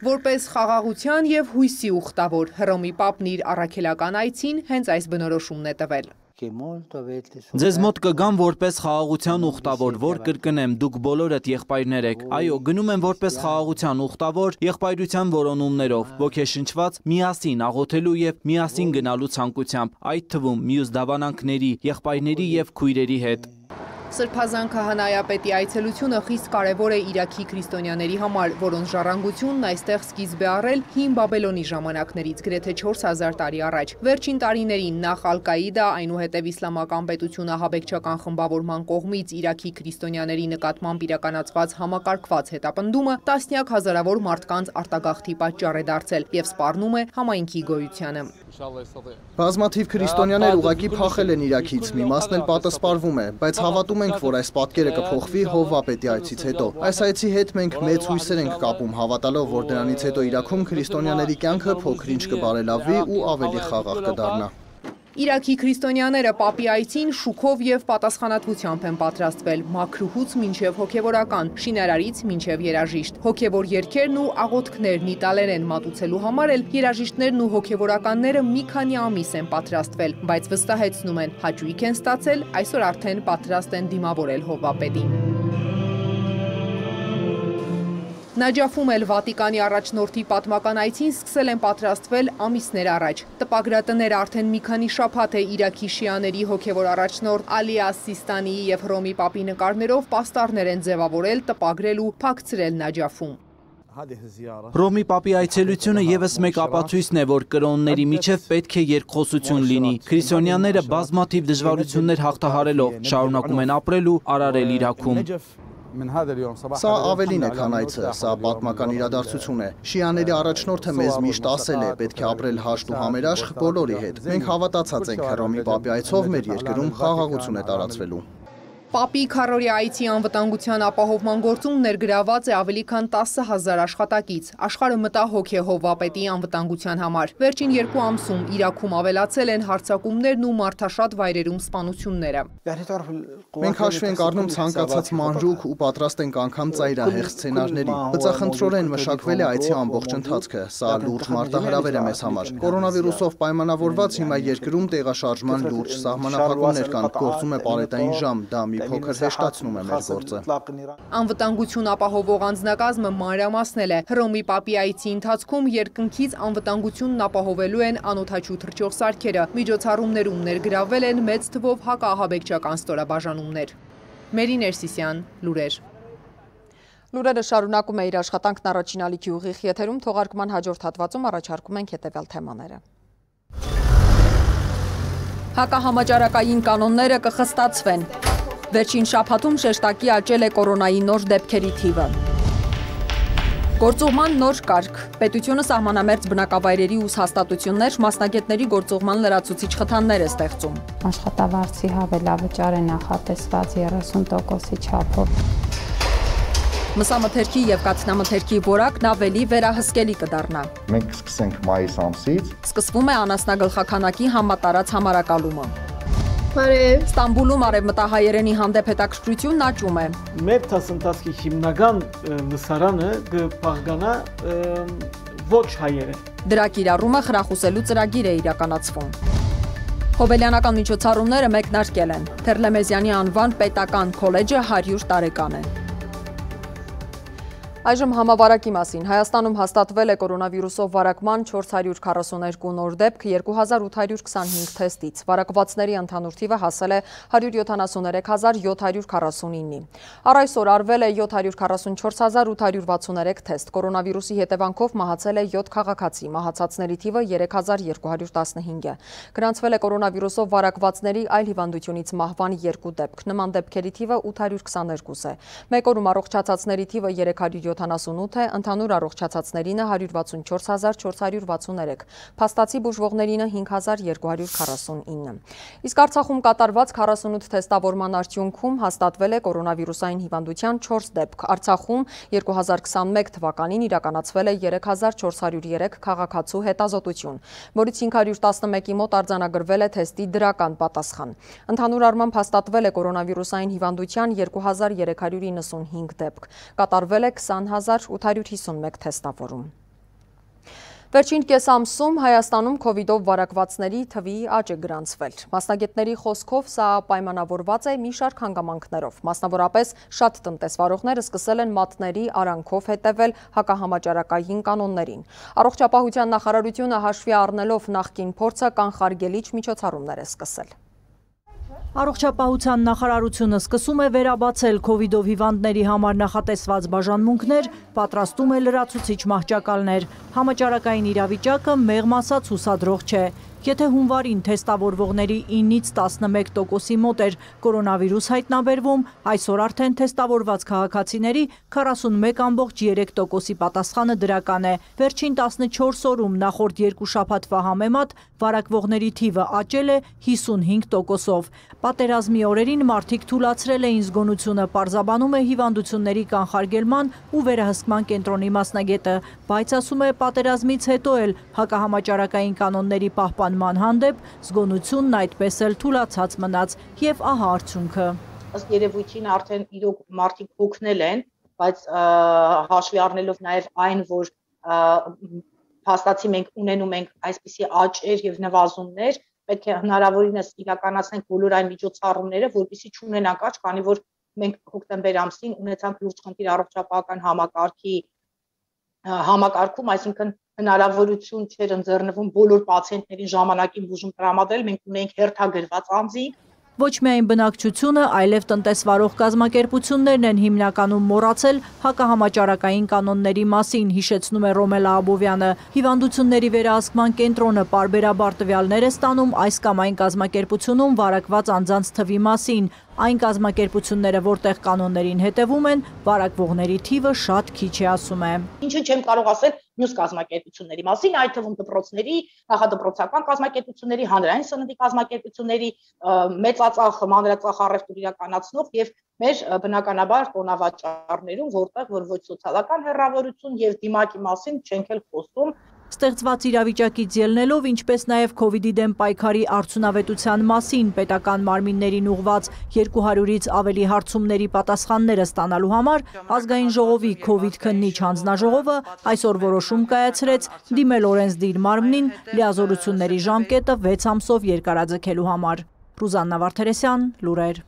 Որպես խաղաղության եւ հույսի ուխտավոր Հռոմի Պապն իր առաքելական այցին հենց այս բնորոշումն է տվել։ Ձեզ մոտ կգամ որպես խաղաղության ուխտավոր, որ կրկնեմ, դուք բոլորդ եղբայրներ եք։ Այո, գնում եմ որպես խաղաղության ուխտավոր, եղբայրության որոնումներով, ոգեշնչված միասին աղոթելու եւ միասին գնալու ցանկությամբ, այդ թվում մյուս դավանանքների, եղբայրների եւ քույրերի հետ։ Սրբազան քահանայապետի այցելությունը խիստ կարևոր է Իրաքի քրիստոնյաների համար, որոնց ժառանգությունն այստեղ սկիզբ է առել հին Բաբելոնի ժամանակներից, գրեթե չորս հազար տարի առաջ։ Վերջին տարիներին նախ Ալ-Կաիդա, այնուհետև իսլամական պետություն ահաբեկչական խմբավորման կողմից Իրաքի քրիստոնյաների նկատմամբ իրականացված համակարգված հետապնդումը տասնյակ հազարավոր մարդկանց արտագաղթի պատճառ է դարձել եւ սպառնում է համայնքի գոյությանը։ Բազմաթիվ քրիստոնյաներ ուղղակի փախել են Իրաքից, մի մասն էլ պատասպարվում է, բայց հավատում ենք, որ այս պատկերը կփոխվի Հովվապետի այցից հետո։ Այս այցի հետ մենք մեծ հույսեր ենք կապում, հավատալով, որ դրանից հետո Իրաքում քրիստոնյաների կյանքը փոքր-ինչ կբարելավի ու ավելի խաղաղ կդառնա։ Իրաքի քրիստոնյաները Պապի այցին շուքով եւ պատասխանատվությամբ են պատրաստվել, մաքրուհուց մինչեւ հոգեվորական, շինարարից մինչեւ երաժիշտ։ Հոգեվոր երգերն ու աղոթքներն իտալերեն մատուցելու համար էլ երաժիշտներն ու հոգեվորականները մի քանի ամիս են պատրաստվել, բայց վստահեցնում են, հաճույք են ստացել, այսօր արդեն պատրաստ են դիմավորել Հովվապետին։ Նաջաֆում էլ Վատիկանի առաջնորդի պատմական այցին սկսել են պատրաստվել ամիսներ առաջ։ Տպագրատները արդեն մի քանի շաբաթ է Իրաքի շիաների հոգևոր առաջնորդ Ալի Աս-Սիստանիի եւ Հռոմի Պապի նկարներով պաստառներ են ձևավորել, տպագրել ու փակցրել Նաջաֆում։ Հռոմի Պապի այցելությունը եւս մեկ ապացույցն է, որ կրոնների միջև պետք է երկխոսություն լինի։ Քրիստոնյաները բազմաթիվ դժվարություններ հաղթահարելով շարունակում են ապրել ու արարել Իրաքում։ Սա ավելին է, քան այցը, սա պատմական իրադարձություն է։ Շիաների առաջնորդը մեզ միշտ ասել է, պետք է ապրել հաշտ ու համերաշխ բոլորի հետ։ Մենք հավատացած ենք Հռոմի Պապի այցով մեր երկրում խաղաղություն է տարածվելու։ Պապի քառօրյա այցի անվտանգության ապահովման գործում ներգրաված է ավելի քան տասը հազար աշխատակից։ Աշխարհը մտահոգ է Հովվապետի անվտանգության համար։ Վերջին երկու ամսում Իրաքում ավելացել են հարձակումներն ու մարդաշատ վայրերում սպանությունները։ Մենք հաշվի ենք առնում ցանկացած մանրուք ու պատրաստ ենք անգամ ծայրահեղ սցենարների։ Բծախնդրորեն մշակվել է այցի ամբողջ ընթացքը։ Սա լուրջ մարտահրավեր է մեզ համար։ Կորոնավիրուսով պայմանավորված հիմա երկրում տեղաշարժման լուրջ սահմանափակումներ կան, գործում է պարետային ժամ, դա մի փոքր հեշտացնում է մեր գործը։ Անվտանգություն ապահովող անձնակազմը մանրամասնել է։ Հռոմի Պապի այցի ընթացքում երկնքից անվտանգությունն ապահովելու են անօդաչու թռչող սարքերը։ Միջոցառումներում ներգրավվել են մեծ թվով հակաահաբեկչական ստորաբաժանումներ։ Մերի Ներսիսյան, լուրեր։ Լուրերը շարունակում է իր աշխատանքն առաջին ալիքի ուղիղ եթերում, թողարկման հաջորդ հատվածում առաջարկում ենք հետևյալ թեմաները։ Հակահամաճարակային կանոնները կխստացվեն։ Վերջին շաբաթում շեշտակի աճել է կորոնայի նոր դեպքերի թիվը։ Գործուղման նոր կարգ։ Պետությունը սահմանամերձ բնակավայրերի ու հաստատություններ մասնագետների գործուղման լրացուցիչ խթաններ է ստեղծում։ Աշխատավարձի հավելավճար է նախատեսված երեսուն տոկոսի չափով։ Մսամթերքի եւ կաթնամթերքի որակն ավելի վերահսկելի կդառնա։ Մենք կսկսենք մայիս ամսից։ Սկսվում է անասնագլխաքանակի համատարած համարակալումը։ Բարև։ Ստամբուլում արևմտահայերենի հանդեպ հետաքրքրությունն աճում է։ Մեր դասընթացի հիմնական լսարանը կպահպանա ոչ հայերեն։ Դրա կիրառումը խրախուսելու ծրագիր է իրականացվում։ Հոբելյանական միջոցառումները մեկնարկել են։ Թերլեմեզյանի անվան պետական քոլեջը հարյուր տարեկան է։ Այժմ համավարակի մասին։ Հայաստանում հաստատվել է կորոնավիրուսով վարակման չորս հարյուր քառասուններկու նոր դեպք երկու հազար ութ հարյուր քսանհինգ թեստից։ Վարակվածների ընդհանուր թիվը հասել է հարյուր յոթանասուններեք հազար յոթ հարյուր քառասունինի։ Առ այսօր արվել է յոթ հարյուր քառասունչորս հազար ութ հարյուր վաթսուներեք թեստ։ Կորոնավիրուսի հետևանքով մահացել է յոթ քաղաքացի, մահացածների թիվը երեք հազար երկու հարյուր տասնհինգ է։ Գրանցվել է կորոնավիրուսով վարակվածների այլ հիվանդությունից մահվան երկու դեպք։ Նման դեպքերի թիվը ութ հարյուր քսաներկու է։ Մեկ օրում առողջացածների թիվը երեք հարյուր յոթանասունութ է, ընդհանուր առողջացածներինը հարյուր վաթսունչորս հազար չորս հարյուր վաթսուներեք, փաստացի բուժվողներինը հինգ հազար երկու հարյուր քառասունինը։ Իսկ Արցախում կատարված քառասունութ թեստավորման արդյունքում հաստատվել է կորոնավիրուսային հիվանդության չորս դեպք։ Արցախում երկու հազար քսանմեկ թվականին իրականացվել է երեք հազար չորս հարյուր երեք քաղաքացու հետազոտություն, որից հինգ հարյուր տասնմեկի մոտ արձանագրվել է թեստի դրական պատասխան։ Ընդհանուր առմամբ հաստատվել է կորոնավիրուսային հիվանդության երկու հազար երեք հարյուր իննսունհինգ դեպք։ Կատարվել է քսան հազար ութ հարյուր հիսունմեկ թեստավորում։ Վերջին կես ամսում Հայաստանում քովիդով վարակվածների թվի աճ է գրանցվել։ Մասնագետների խոսքով սա պայմանավորված է մի շարք հանգամանքներով։ Մասնավորապես շատ տնտեսվարողներ սկսել են մատների արանքով հետևել հակահամաճարակային կանոններին։ Առողջապահության նախարարությունը հաշվի առնելով նախկին փորձը կանխարգելիչ միջոցառումներ է սկսել։ Առողջապահության նախարարությունը սկսում է վերաբացել քովիդով հիվանդների համար նախատեսված բաժանմունքներ, պատրաստում է լրացուցիչ մահճակալներ։ Համաճարակային իրավիճակը մեղմ ասած հուսադրող չէ։ Եթե հունվարին թեստավորվողների ինից տասնմեկ տոկոսի մոտ էր կորոնավիրուս հայտնաբերվում, այսօր արդեն թեստավորված քաղաքացիների քառասունմեկ ամբողջ երեք տոկոսի պատասխանը դրական է։ Վերջին տասնչորս օրում նախորդ երկու շաբաթվա համեմատ վարակվողների թիվը աճել է հիսունհինգ տոկոսով։ Պատերազմի օրերին մարդիկ թուլացրել էին զգոնությունը, պարզաբանում է հիվանդությունների կանխարգելման ու վերահսկման կենտրոնի մասնագետը, բայց ասում է պատերազմից հետո էլ հակահամաճարակային կանոնների պահպանման հանդեպ զգոնությունն այդպես էլ թուլացած մնաց եւ ահա արդյունքը։ Ըստ երևույթին արդեն իրոք մարդիկ հոգնել են, բայց հաշվի առնելով նաեւ այն, որ փաստացի մենք ունենում ենք այսպիսի աճեր եւ նվազումներ, պետք է հնարավորինս իրականացնենք բոլոր այն միջոցառումները, որպեսզի չունենանք աճ, քանի որ մենք հոկտեմբեր ամսին ունեցանք լուրջ խնդիր առողջապահական համակարգի համակարգում, այսինքն հնարավորություն չէր ընձեռնվում բոլոր պացիենտներին ժամանակին բուժում տրամադրել, մենք ունենք հերթագրված անձինք։ Ոչ միայն բնակչությունը, այլև տնտեսվարող կազմակերպություններն են հիմնականում մոռացել հակահամաճարակային կանոնների մասին, հիշեցնում է Ռոմելա Աբովյանը։ Հիվանդությունների վերահսկման կենտրոնը պարբերաբար տվյալներ է ստանում այս կամ այն կազմակերպությունում վարակված անձանց թվի մասին։ Այն կազմակերպությունները, որտեղ կանոններին հետևում են, վարակվողների թիվը շատ քիչ է, ասում է։ Ինչը չեմ կարող ասել մյուս կազմակերպությունների մասին, այդ թվում դպրոցների, նախադպրոցական կազմակերպությունների, հանրային սննդի կազմակերպությունների, մեծածախ, մանրածախ առևտուր իրականացնող եւ մեր բնականաբար տոնավաճառներում, որտեղ որ ոչ սոցիալական հեռավորություն եւ դիմակի մասին չենք էլ խոսում։ Ստեղծված իրավիճակից ելնելով, ինչպես նաև քովիդի դեմ պայքարի արդյունավետության մասին պետական մարմիններին ուղղված երկու հարյուրից ավելի հարցումների պատասխանները ստանալու համար ազգային ժողովի քովիդ քննիչ հանձնաժողովը այսօր որոշում կայացրեց դիմել օրենսդիր մարմնին լիազորությունների ժամկետը վեց ամսով երկարաձգելու համար։ Ռուզաննա Վարդերեսյան, լուրեր։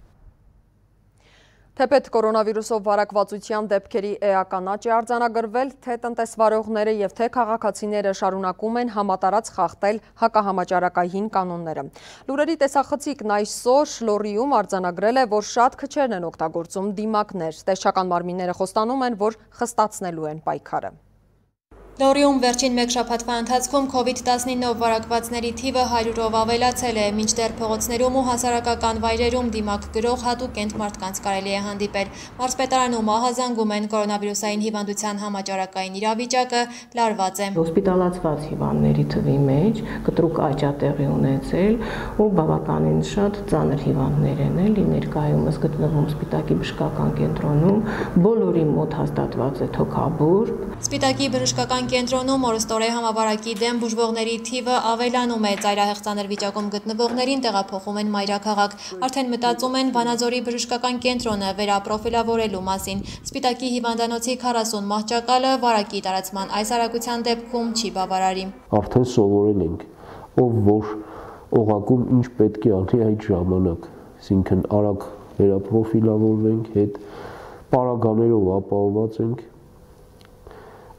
Թեպետ կորոնավիրուսով վարակվածության դեպքերի էական աճ է արձանագրվել, թե տնտեսվարողները եւ թե քաղաքացիները շարունակում են համատարած խախտել հակահամաճարակային կանոնները։ Լուրերի տեսախցիկն այսօր Լոռիում արձանագրել է, որ շատ քչերն են օգտագործում դիմակներ։ Տեսչական մարմինները խոստանում են, որ խստացնելու են պայքարը։ Լոռիում վերջին մեկ շաբաթվա ընթացքում քովիդ տասնինով վարակվածների թիվը հարյուրով ավելացել է, մինչդեռ փողոցներում ու հասարակական վայրերում դիմակ գրող հատուկ կենտ մարդկանց կարելի է հանդիպել։ Մարզպետարանում ահազանգում են կորոնավիրուսային հիվանդության համաճարակային իրավիճակը լարված է։ Հոսպիտալացված հիվանդների թվի մեջ կտրուկ աճ է տեղի ունեցել ու բավականին շատ ծանր հիվանդներ են էլի ներկայումս գտնվում Սպիտակի բժշկական կենտրոնում, բոլորի մոտ հաստատված է թոքաբորբ։ Սպիտակի բժշկական կենտրոնում օրստորե համավարակի դեմ բուժվողների թիվը ավելանում է, ծայրահեղ ծանր վիճակում գտնվողներին տեղափոխում են մայրաքաղաք, արդեն մտածում են Վանաձորի բժշկական կենտրոնը վերապրոֆիլավորելու մասին։ Սպիտակի հիվանդանոցի քառասուն մահճակալը վարակի տարածման այս արագության դեպքում չի բավարարի։ Արդեն սովորել ենք, ով որ օղակում ինչ պետք է անի այդ ժամանակ, այսինքն արագ վերապրոֆիլավորվենք, հետ պարագաներով ապահովված ենք,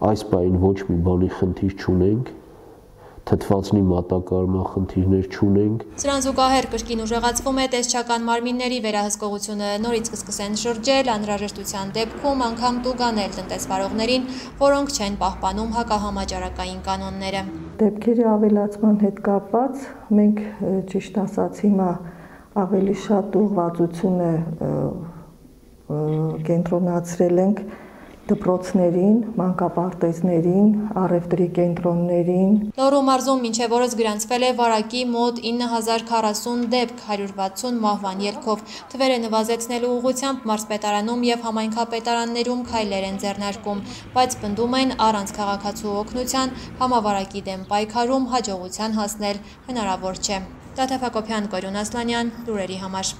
այս պահին ոչ մի բանի խնդիր չունենք, թթվածնի մատակարարման խնդիրներ չունենք։ Սրան զուգահեռ կրկին ուժեղացվում է տեսչական մարմինների վերահսկողությունը, նորից կսկսեն շրջել անհրաժեշտության դեպքում անգամ տուգանել տնտեսվարողներին, որոնք չեն պահպանում հակահամաճարակային կանոնները։ Դեպքերի ավելացման հետ կապված մենք ճիշտ ասած հիմա ավելի շատ ուղղվածություն է կենտրոնացրել ենք դպրոցներին, մանկապարտեզներին, առևտրի կենտրոններին։ Լոռու մարզում մինչև օրս գրանցվել է վարակի մոտ ինը հազար քառասուն դեպք, հարյուր վաթսուն մահվան ելքով։ Թվերը նվազեցնելու ուղղությամբ մարզպետարանում եւ համայնքապետարաններում քայլեր են ձեռնարկում, բայց պնդում են առանց քաղաքացու օգնության համավարակի դեմ պայքարում հաջողության հասնել հնարավոր չէ։ Տաթև Հակոբյան, Կորյուն Ասլանյան, լուրերի համար։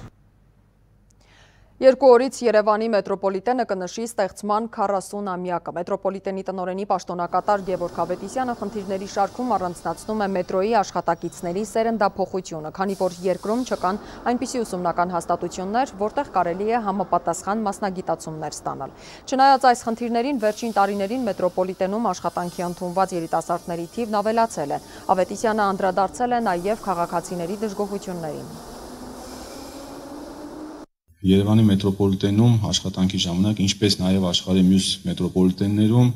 Երկու օրից Երևանի մետրոպոլիտենը կնշի ստեղծման քառասուն-ամյակը։ Մետրոպոլիտենի տնօրենի պաշտոնակատար Գևորգ Ավետիսյանը խնդիրների շարքում առանձնացնում է մետրոյի աշխատակիցների սերնդափոխությունը, քանի որ երկրում չկան այնպիսի ուսումնական հաստատություններ, որտեղ կարելի է համապատասխան մասնագիտացումներ ստանալ։ Չնայած այս խնդիրներին, վերջին տարիներին մետրոպոլիտենում աշխատանքի ընդունված երիտասարդների թիվն ավելացել է։ Ավետիսյանը անդրադարձել է նաև քաղաքացիների դժգոհություններին։ Երևանի մետրոպոլիտենում աշխատանքի ժամանակ, ինչպես նաև աշխարհի մյուս մետրոպոլիտեններում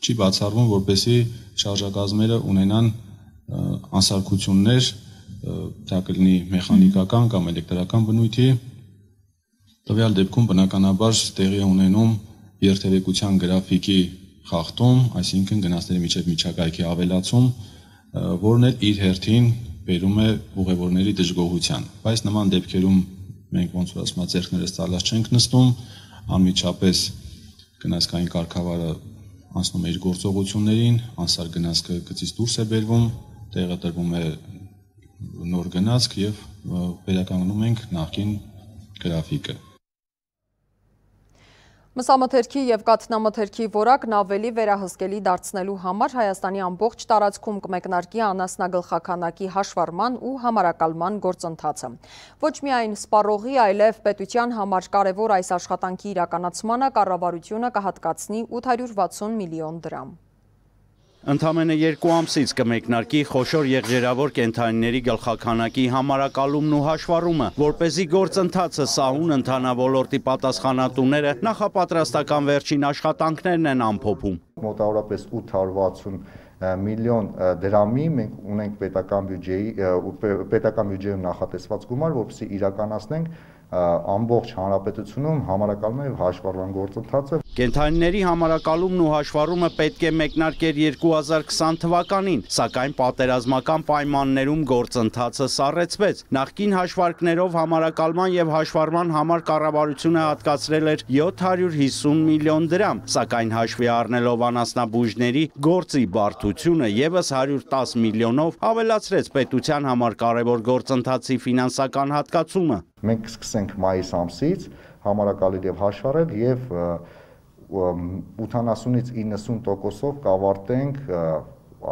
չի բացառվում, որպեսզի շարժակազմերը ունենան անսարքություններ, դա կլինի մեխանիկական կամ էլեկտրական բնույթի։ Տվյալ դեպքում բնականաբար տեղի է ունենում երթևեկության գրաֆիկի խախտում, այսինքն գնացների միջև միջակայքի ավելացում, որն էլ իր հերթին բերում է ուղևորների դժգոհության։ Բայց նման դեպքերում մենք ոնց որ ասում ձեռքներս ծալած չենք նստում, անմիջապես գնացքային կարգավարը անցնում է իր գործողություններին, անսար գնացքը գծից դուրս է բերվում, տեղը տրվում է նոր գնացք եւ վերականգնում ենք նախկին գրաֆիկը։ Մսամթերքի և կաթնամթերքի որակն ավելի վերահսկելի դարձնելու համար Հայաստանի ամբողջ տարածքում կմեկնարկի անասնագլխաքանակի հաշվառման ու համարակալման գործընթացը։ Ոչ միայն սպառողի, այլև պետության համար կարևոր այս աշխատանքի իրականացմանը կառավարությունը կհատկացնի ութ հարյուր վաթսուն միլիոն դրամ։ Ընդամենը երկու ամսից կմեկնարկի խոշոր եղջերավոր կենդանիների գլխաքանակի համարակալումն ու հաշվառումը, որպեսզի գործընթացը սահուն ընթանա ոլորտի պատասխանատուները նախապատրաստական վերջին աշխատանքներն են ամփոփում։ Մոտավորապես ութ հարյուր վաթսուն միլիոն դրամի մենք ունենք պետական բյուջեի պետական բյուջեում նախատեսված գումար, որպեսզի իրականացնենք ամբողջ հանրապետությունում համարակալման եւ հաշվառման գործընթացը։ Կենդանիների համարակալումն ու հաշվառումը պետք է մեկնարկեր երկու հազար քսան թվականին, սակայն պատերազմական պայմաններում գործընթացը սառեցվեց։ Նախկին հաշվարկներով համարակալման եւ հաշվառման համար կառավարությունը հատկացրել էր յոթ հարյուր հիսուն միլիոն դրամ, սակայն հաշվի առնելով անասնաբույժների գործի բարդությունը եւս հարյուր տասը միլիոնով ավելացրեց պետության համար կարևոր գործընթացի ֆինանսական հատկացումը։ Մենք կսկսենք մայիս ամսից համարակալել եւ հաշվառել եւ ութանասունից իննսուն տոկոսով կավարտենք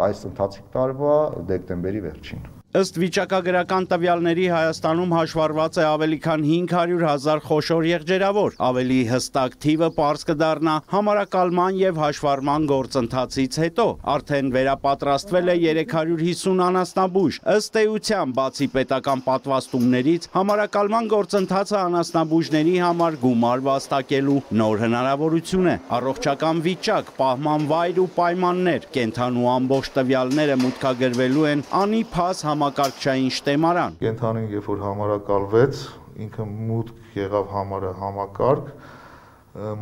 այս ընթացիկ տարվա դեկտեմբերի վերջին։ Ըստ վիճակագրական տվյալների Հայաստանում հաշվառված է ավելի քան հինգ հարյուր հազար խոշոր եղջերավոր, ավելի հստակ թիվը պարզ կդառնա համարակալման եւ հաշվառման գործընթացից հետո, արդեն վերապատրաստվել է երեք հարյուր հիսուն անասնաբույժ, ըստ էության բացի պետական պատվաստումներից համարակալման գործընթացը անասնաբույժների համար գումար վաստակելու նոր հնարավորություն է, առողջական վիճակ, պահման վայր ու պայմաններ, կենդանու ամբողջ տվյալները մուտքագրվելու են անիփաս համակարգչային շտեմարան։ Կենդանին երբ որ համարակալվեց, ինքը մուտք եղավ համարը համակարգ,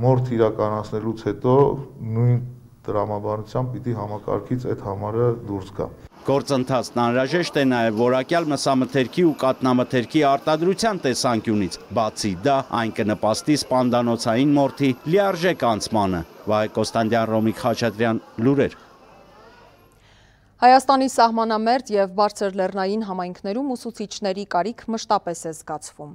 մորթ իրականացնելուց հետո նույն տրամաբանությամբ պիտի համակարգից այդ համարը դուրս գա։ Գործընթացն անհրաժեշտ է նաև որակյալ մսամթերքի ու կաթնամթերքի արտադրության տեսանկյունից, բացի դա այն կնպաստի սպանդանոցային մորթի լիարժեք անցմանը։ Վահե Կոստանդյան, Ռոմիկ Խաչատրյան, լուրեր։ Հայաստանի սահմանամերձ և բարձր լեռնային համայնքներում ուսուցիչների կարիք մշտապես է զգացվում։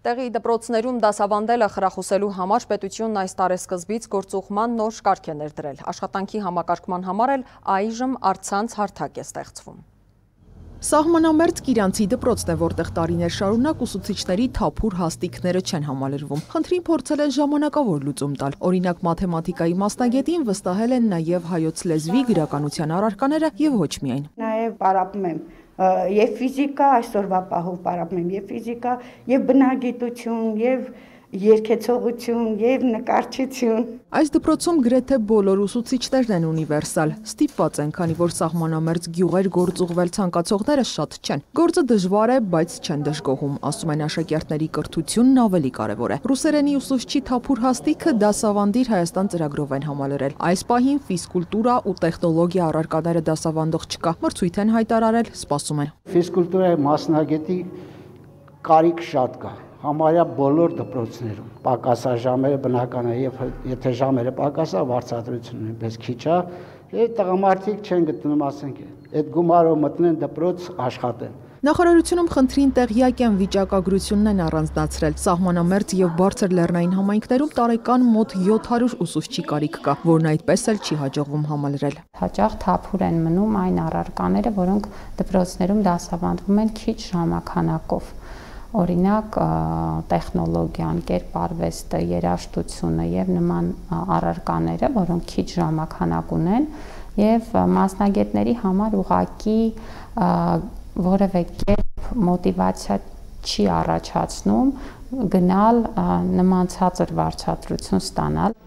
Տեղի դպրոցներում դասավանդելը խրախուսելու համար պետությունն այս տարեսկզբից գործուղման նոր կարգ է ներդրել։ Աշխատանքի համակարգման համար էլ այժմ առցանց հարթակ է ստեղծվում։ Սահմանամերձ Կիրանցի դպրոցն է, որտեղ տարիներ շարունակ ուսուցիչների թափուր հաստիքները չեն համալրվում։ Խնդրին փորձել են ժամանակավոր լուծում տալ։ Օրինակ մաթեմատիկայի մասնագետին վստահել են նաև հայոց լեզվի, գրականության առարկաները եւ ոչ միայն։ Նաև պարապում եմ եւ ֆիզիկա, այսօրվա պահով պարապում եմ եւ ֆիզիկա, եւ բնագիտություն, եւ երկեցողություն եւ նկարչություն։ Այս դպրոցում գրեթե բոլոր ուսուցիչներն են ունիվերսալ, ստիպված են, քանի որ սահմանամերձ գյուղեր գործուղվել ցանկացողները շատ չեն։ Գործը դժվար է, բայց չեն դժգոհում, ասում են աշակերտների կրթությունն ավելի կարևոր է։ Ռուսերենի ուսուցչի թափուր հաստիքը դասավանդիր Հայաստան ծրագրով են համալրել։ Այս պահին ֆիզկուլտուրա ու տեխնոլոգիա առարկաները դասավանդող չկա, մրցույթ են հայտարարել, սպասում են։ Ֆիզկուլտուրայի մասնագետի կարիք շատ կա։ Համարյա բոլոր դպրոցներում պակասաժամերը բնական է, եւ եթե ժամերը պակասա, վարձատրությունը նույնպես քիչ է, եւ տղամարդիկ չեն գտնում, ասենք, այդ գումարով մտնեն դպրոց աշխատեն։ Նախարարությունում խնդրին տեղյակ են, վիճակագրությունն են առանձնացրել։ Սահմանամերձ եւ բարձր լեռնային համայնքներում տարեկան մոտ յոթ հարյուր ուսուցչի կարիք կա, որն այդպես էլ չի հաջողվում համալրել։ Հաճախ թափուր են մնում այն առարկաները, որոնք դպրոցներում դասավանդվում են քիչ ժամանականակով։ Օրինակ տեխնոլոգիան, կերպարվեստը, երաժշտությունը եւ նման առարկաները, որոնք քիչ ժամանակ ունեն եւ մասնագետների համար ուղղակի որևէ կերպ մոտիվացիա չի առաջացնում գնալ նման ցածր վարձատրություն ստանալ։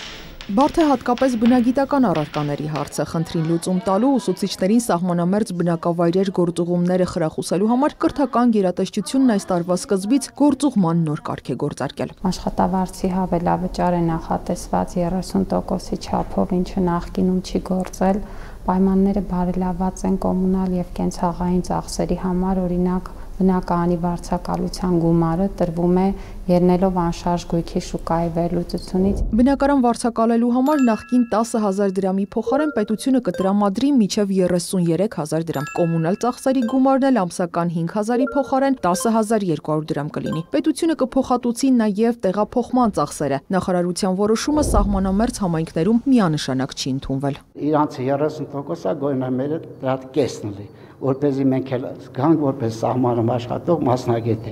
Բարդ է հատկապես բնագիտական առարկաների հարցը, խնդրին լուծում տալու ուսուցիչներին սահմանամերձ բնակավայրեր գործուղումները խրախուսելու համար կրթական գերատեսչությունն այս տարվա սկզբից գործուղման նոր կարգ է գործարկել։ Աշխատավարձի հավելավճար է նախատեսված երեսուն տոկոսի չափով, ինչը նախկինում չի գործել։ Պայմանները բարելավված են կոմունալ եւ կենցաղային ծախսերի համար, օրինակ բնակարանի վարձակալության գումարը տրվում է ելնելով անշարժ գույքի շուկայի վերլուծությունից։ Բնակարան վարձակալելու համար նախկին տասը հազար դրամի փոխարեն պետությունը կտրամադրի մինչև երեսուներեք հազար դրամ։ Կոմունալ ծախսերի գումարն էլ ամսական հինգ հազարի փոխարեն տասը հազար երկու հարյուր դրամ կլինի։ Պետությունը կփոխհատուցի նաև տեղափոխման ծախսերը։ Նախարարության որոշումը սահմանամերձ համայնքներում միանշանակ չի ընդունվել։ Իրանց երեսուն տոկոսը գոյնամերը դրա կեսն լի, որպեսզի մենք էլ գանք որպես սահմանում աշխատող մասնագետ։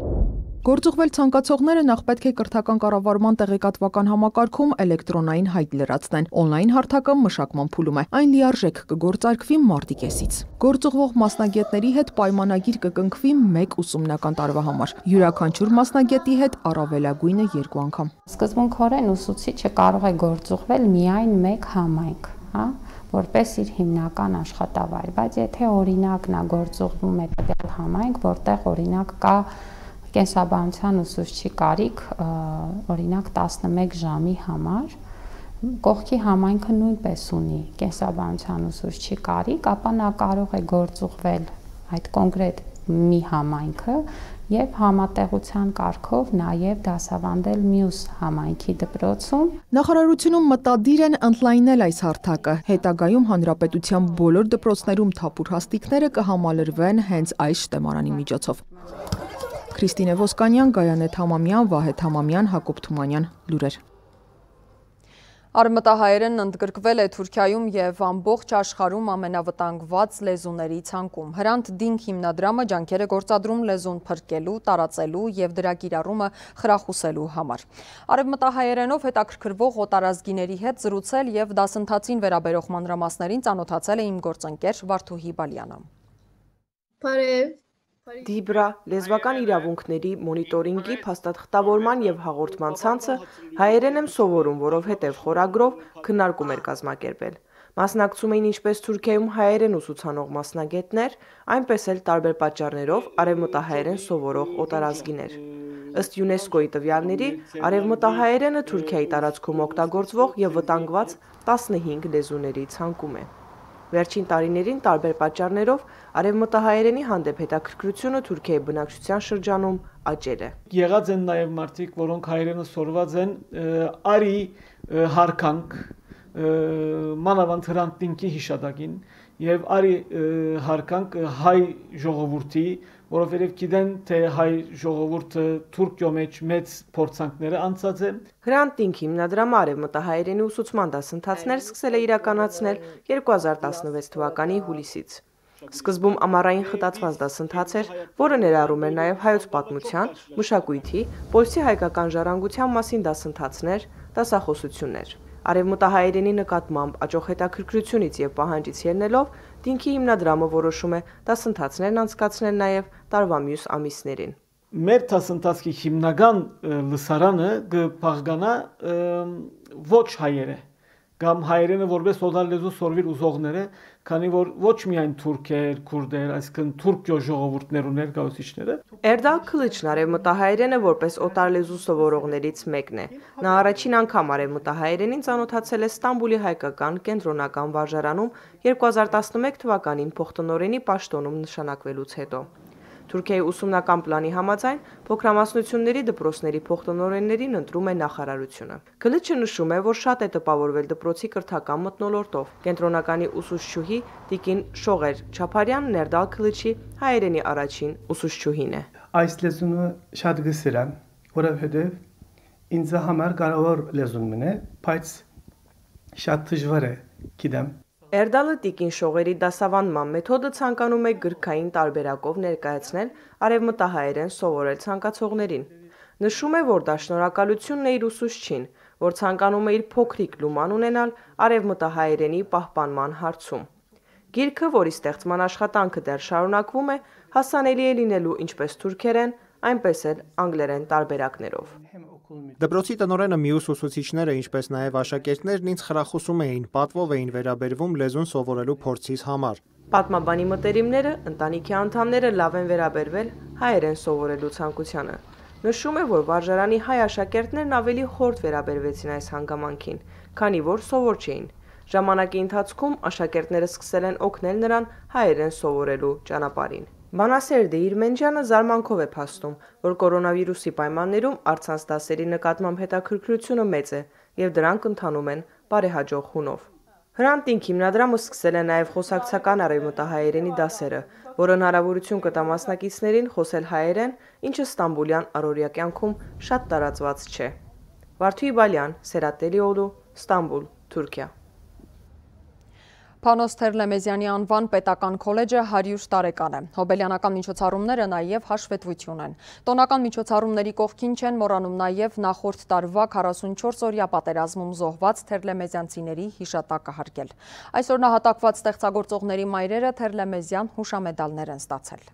Գործուղվել ցանկացողները նախ պետք է կրթական կառավարման տեղեկատվական համակարգում էլեկտրոնային հայտ լրացնեն։ Օնլայն հարթակը մշակման փուլում է։ Այն լիարժեք կգործարկվի մարտի կեսից։ Գործուղվող մասնագետների հետ պայմանագիր կկնքվի մեկ ուսումնական տարվա համար։ Յուրաքանչյուր մասնագետի հետ առավելագույնը երկու անգամ։ Սկզբունքորեն ուսուցիչը կարող է գործուղվել միայն մեկ համայնք, հա, որպես իր հիմնական աշխատավայր, բայց եթե օրինակ նա գործուղվում է տվյալ համայնք, որտեղ օրինակ կա կենսաբանության ուսուցչի կարիք, օրինակ տասնմեկ ժամի համար, կողքի համայնքը նույնպես ունի կենսաբանության ուսուցչի կարիք, ապա նա կարող է գործուղվել այդ կոնկրետ մի համայնքը եւ համատեղության կարգով նաեւ դասավանդել մյուս համայնքի դպրոցում։ Նախարարությունում մտադիր են ընդլայնել այս հարթակը։ Հետագայում հանրապետության բոլոր դպրոցներում թափուր հաստիքները կհամալրվեն հենց այս շտեմարանի միջոցով։ Քրիստինե Ոսկանյան, Գայանե Թամամյան, Վահե Թամամյան, Հակոբ Թումանյան, լուրեր։ Արևմտահայերենն ընդգրկվել է Թուրքիայում եւ ամբողջ աշխարհում ամենավտանգված լեզուների ցանկում։ Հրանտ Դինք հիմնադրամը ջանքեր է գործադրում լեզուն փրկելու, տարածելու եւ դրա կիրառումը խրախուսելու համար։ Արևմտահայերենով հետաքրքրվող օտարազգիների հետ զրուցել եւ դասընթացին վերաբերող մանրամասներին ծանոթացել է իմ գործընկեր Վարդուհի Բալյանը։ Բարև։ Դիբրա լեզվական իրավունքների մոնիտորինգի փաստաթղթավորման եւ հաղորդման ցանցը հայերեն եմ սովորում, որովհետեւ խորագրով քննարկում էր կազմակերպել։ Մասնակցում էին ինչպես Թուրքիայում հայերեն ուսուցանող մասնագետներ, այնպես էլ տարբեր պատճառներով արևմտահայերեն սովորող օտարազգիներ։ Ըստ ՅՈՒՆԵՍԿՕ-ի տվյալների, արևմտահայերենը Թուրքիայի տարածքում օգտագործվող եւ վտանգված տասնհինգ լեզուների ցանկում է։ Վերջին տարիներին տարբեր պատճառներով արևմտահայերենի հանդեպ հետաքրքրությունը Թուրքիայի բնակչության շրջանում աճել է։ Եղած են նաև մարդիկ, որոնք հայերենը սորված են, արի հարկանք, մանավանդ Հրանտ Դինքի հիշատակին եւ արի հարկանք հայ ժողովրդի, որովհետեւ գիտեն թե հայ ժողովուրդը Թուրքիո մեջ մեծ փորձանքները անցած է։ Հրանտ Դինքի հիմնադրամը արևմտահայերենի ուսուցման դասընթացներ սկսել է իրականացնել երկու հազար տասնվեց թվականի հուլիսից։ Սկզբում ամառային խտացված դասընթաց էր, որը ներառում էր նաև հայոց պատմության, մշակույթի, պոլսի հայկական ժառանգության մասին դասընթացներ, դասախոսություններ։ Արևմտահայերենի նկատմամբ աճող հետաքրքրությունից եւ պահանջից ելնելով Դինքի հիմնադրամը որոշում է դասընթացներն անցկացնել նաև տարվա մյուս ամիսներին։ Մեր դասընթացի հիմնական լսարանը կփաղկանա ոչ հայերը կամ հայերենը որպես օտար լեզու սորվիր ուզողները, քանի որ ոչ միայն թուրքեր, քուրդեր, այսինքն թուրքիո ժողովուրդներ ու ներկայացուցիչները։ Էրդալ Քլիչն արևմտահայերենը որպես օտար լեզու սովորողներից մեկն է։ Նա առաջին անգամ արևմտահայերենին ծանոթացել է Ստամբուլի հայկական կենտրոնական վարժարանում երկու հազար տասնմեկ թվականին փոխտնօրենի պաշտոնում նշանակվելուց հետո։ Թուրքիայի ուսումնական պլանի համաձայն փոքրամասնությունների դպրոցների փոխտնօրեններին ընտրում է նախարարությունը։ Քլիչը նշում է, որ շատ է տպավորվել դպրոցի կրթական մթնոլորտով։ Կենտրոնականի ուսուցչուհի Տիկին Շողեր Չապարյանն Էրդալ Քլիչի հայերենի առաջին ուսուցչուհին է։ Այս լեզունը շատ գսել եմ, որովհետև ինձ համար կարևոր լեզուն է, բայց շատ դժվար է գիտեմ։ Էրդալը Տիկին Շողերի դասավանդման մեթոդը ցանկանում է գրքային տարբերակով ներկայացնել արևմտահայերեն սովորել ցանկացողներին։ Նշում է, որ դա շնորհակալությունն է իր ուսուցչին, որ ցանկանում է իր փոքրիկ լուման ունենալ արևմտահայերենի պահպանման հարցում։ Գիրքը, որի ստեղծման աշխատանքը դեռ շարունակվում է, հասանելի է լինելու ինչպես թուրքերեն, այնպես էլ անգլերեն տարբերակներով։ Դպրոցի տնօրենը մյուս ուսուցիչները, ինչպես նաև աշակերտներն ինձ խրախուսում էին, պատվով էին վերաբերվում լեզուն սովորելու փորձից համար։ Պատմաբանի մտերիմները, ընտանիքի անդամները լավ են վերաբերվել հայերեն սովորելու ցանկությանը։ Նշում է, որ վարժարանի հայ աշակերտներն ավելի խորտ վերաբերվեցին այս հանգամանքին, քանի որ սովոր չէին։ Ժամանակի ընթացքում աշակերտները սկսել են օգնել նրան հայերեն սովորելու ճանապարհին։ Բանասերդե Իրմենջյանը զարմանքով է փաստում, որ կորոնավիրուսի պայմաններում առցանց դասերի նկատմամբ հետաքրքրությունը մեծ է եւ դրանք ընթանում են բարեհաջող հունով։ Հրանտ Դինք հիմնադրամը սկսել է նաև խոսակցական արևմտահայերենի դասերը, որը հնարավորություն կտա մասնակիցներին խոսել հայերեն, ինչը ստամբուլյան առօրյա կյանքում շատ տարածված չէ։ Վարդուհի Բալյան, Սերատելիօղլու, Ստամբուլ, Թուրքիա։ Փանոս Թերլեմեզյանի անվան պետական քոլեջը հարյուր տարեկան է։ Հոբելյանական միջոցառումները նաև հաշվետվություն են։ Տոնական միջոցառումների կողքին չեն մոռանում նաև նախորդ տարվա քառասունչորս օրյա պատերազմում զոհված թերլեմեզյանցիների հիշատակը հարգել։ Այսօր նահատակված ստեղծագործողների մայրերը Թերլեմեզյան հուշամեդալներ են ստացել։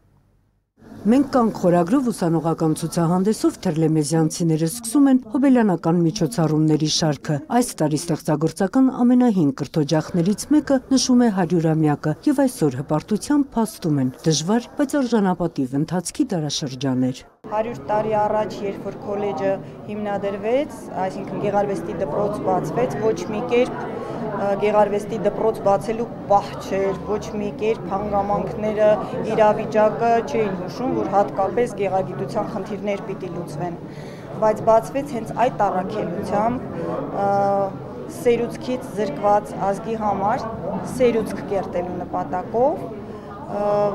Մենք կանք խորագրով ուսանողական ցուցահանդեսով թերլեմեզյանցիները սկսում են հոբելյանական միջոցառումների շարքը։ Այս տարի ստեղծագործական ամենահին կրթօջախներից մեկը նշում է հարյուրամյակը եւ այսօր հպարտությամբ փաստում են դժվար, բայց արժանապատիվ ընթացքի դարաշրջան էր։ հարյուր տարի առաջ, երբ որ քոլեջը հիմնադրվեց, այսինքն գեղարվեստի դպրոց բացվեց, ոչ մի կերպ գեղարվեստի դպրոց բացելու պահ չէր, ոչ մի կերպ հանգամանքները, իրավիճակը չէին հուշում, որ հատկապես գեղագիտության խնդիրներ պիտի լուծվեն, բայց բացվեց հենց այդ առաքելությամբ սերուցքից զրկված ազգի համար սերուցք կերտելու նպատակով,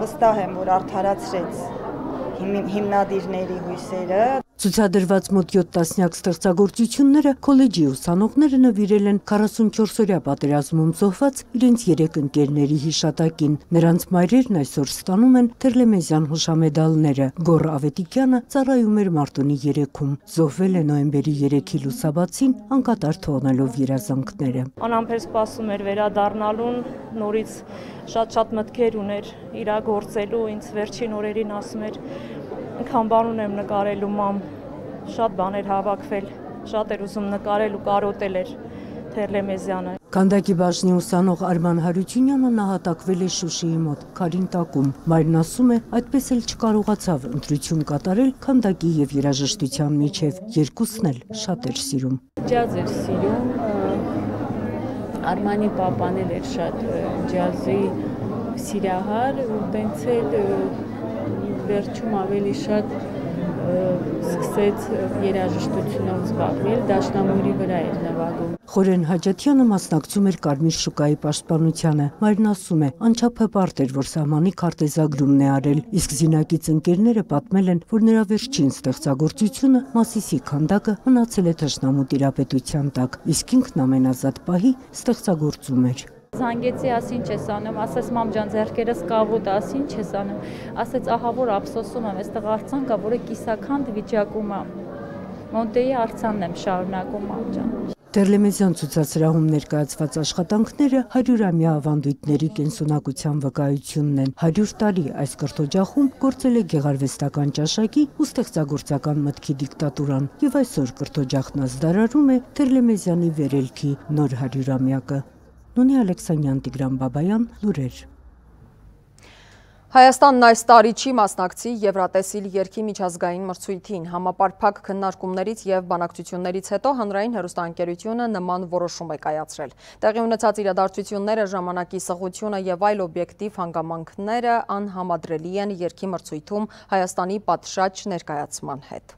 վստահ եմ, որ արդարացրեց հիմնադիրների հույսերը։ Ցուցադրված մոտ յոթ տասնյակ ստեղծագործությունները քոլեջի ուսանողները նվիրել են քառասունչորս օրյա պատերազմում զոհված իրենց երեք ընկերների հիշատակին։ Նրանց մայրերն այսօր ստանում են Թերլեմեզյան հուշամեդալները։ Գոռ Ավետիկյանը ծառայում էր Մարտունի երեքում։ Զոհվել է նոյեմբերի երեքի լուսաբացին, անկատար թողնելով երազանքները։ Անամբեր սպասում էր վերադառնալուն, նորից շատ-շատ մտքեր ուներ իր գործելու, ինձ վերջին օրերին ասում էր Ինքան բան ունեմ նկարելու մամ, շատ բաներ հավաքվել, շատ էր ուզում նկարել ու կարոտել էր Թերլեմեզյանը։ Քանդակի բաժնի ուսանող Արման Հարությունյանը նահատակվել է Շուշիի մոտ, Քարինտակում։ Մայրն ասում է, այդպես էլ չկարողացավ ընտրություն կատարել քանդակի եւ երաժշտության միջև, երկուսն էլ շատ էր սիրում։ Ջազ էր սիրում, Արմանի պապան էր շատ ջազի սիրահար, ու տենց էլ վերջում ավելի շատ սկսեց երաժշտությունով զբաղվել, դաշնամուրի վրա էր նվագում։ Խորեն Հաջաթյանը մասնակցում էր Կարմիր շուկայի պաշտպանությանը։ Մայրն ասում է, անչափ հպարտ էր, որ սահմանի քարտեզագրումն է արել, իսկ զինակից ընկերները պատմել են, որ նրա վերջին ստեղծագործությունը Մասիսի քանդակը մնացել է թշնամու տիրապետության տակ, իսկ ինքն ամենազատ պահի ստեղծագործում էր։ Զանգեցի, ասի ինչ ես անում, ասես մամ ջան ձեռքերս կավուտ, ասի ինչ ես անում, ասեց ահա որ ափսոսում եմ, այստեղ արձան կա, որը կիսաքանդ վիճակում է, Մոնտեի արձանն եմ շարունակում մամ ջան։ Տերլեմեզյան ցուցասրահում ներկայացված աշխատանքները հարյուրամյա ավանդույթների կենսունակության վկայությունն են։ հարյուր տարի այս կրթօջախում գործել է գեղարվեստական ճաշակի ու ստեղծագործական մտքի դիկտատուրան, եւ այսօր կրթօջախն ազդարարում է Տերլեմեզյանի վերելքի նոր հարյուրամյակը։ Նունի Ալեքսանյան, Տիգրան Բաբայան, լուրեր։ Հայաստանն այս տարի չի մասնակցի Եվրատեսիլ երգի միջազգային մրցույթին։ Համապարփակ քննարկումներից եւ բանակցություններից հետո հանրային հեռուստաընկերությունը նման որոշում է կայացրել։ Տեղի ունեցած իրադարձությունները, ժամանակի սղությունը եւ այլ օբյեկտիվ հանգամանքները անհամադրելի են երգի մրցույթում Հայաստանի պատշաճ ներկայացման հետ։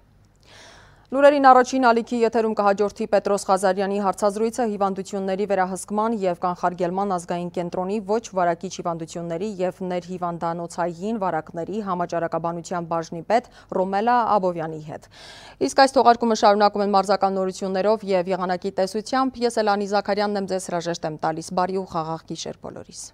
Լուրերին առաջին ալիքի եթերում կհաջորդի Պետրոս Ղազարյանի հարցազրույցը հիվանդությունների վերահսկման եւ կանխարգելման ազգային կենտրոնի ոչ վարակիչ հիվանդությունների եւ ներհիվանդանոցային վարակների համաճարակաբանության բաժնի պետ Ռոմելա Աբովյանի հետ։ Իսկ այս թողարկումը շարունակում են մարզական նորություններով եւ եղանակի տեսությամբ։ Ես Էլանի Զաքարյանն եմ, ձեզ հրաժեշտ եմ տալիս։ Բարի ու խաղաղ գիշեր բոլորիս։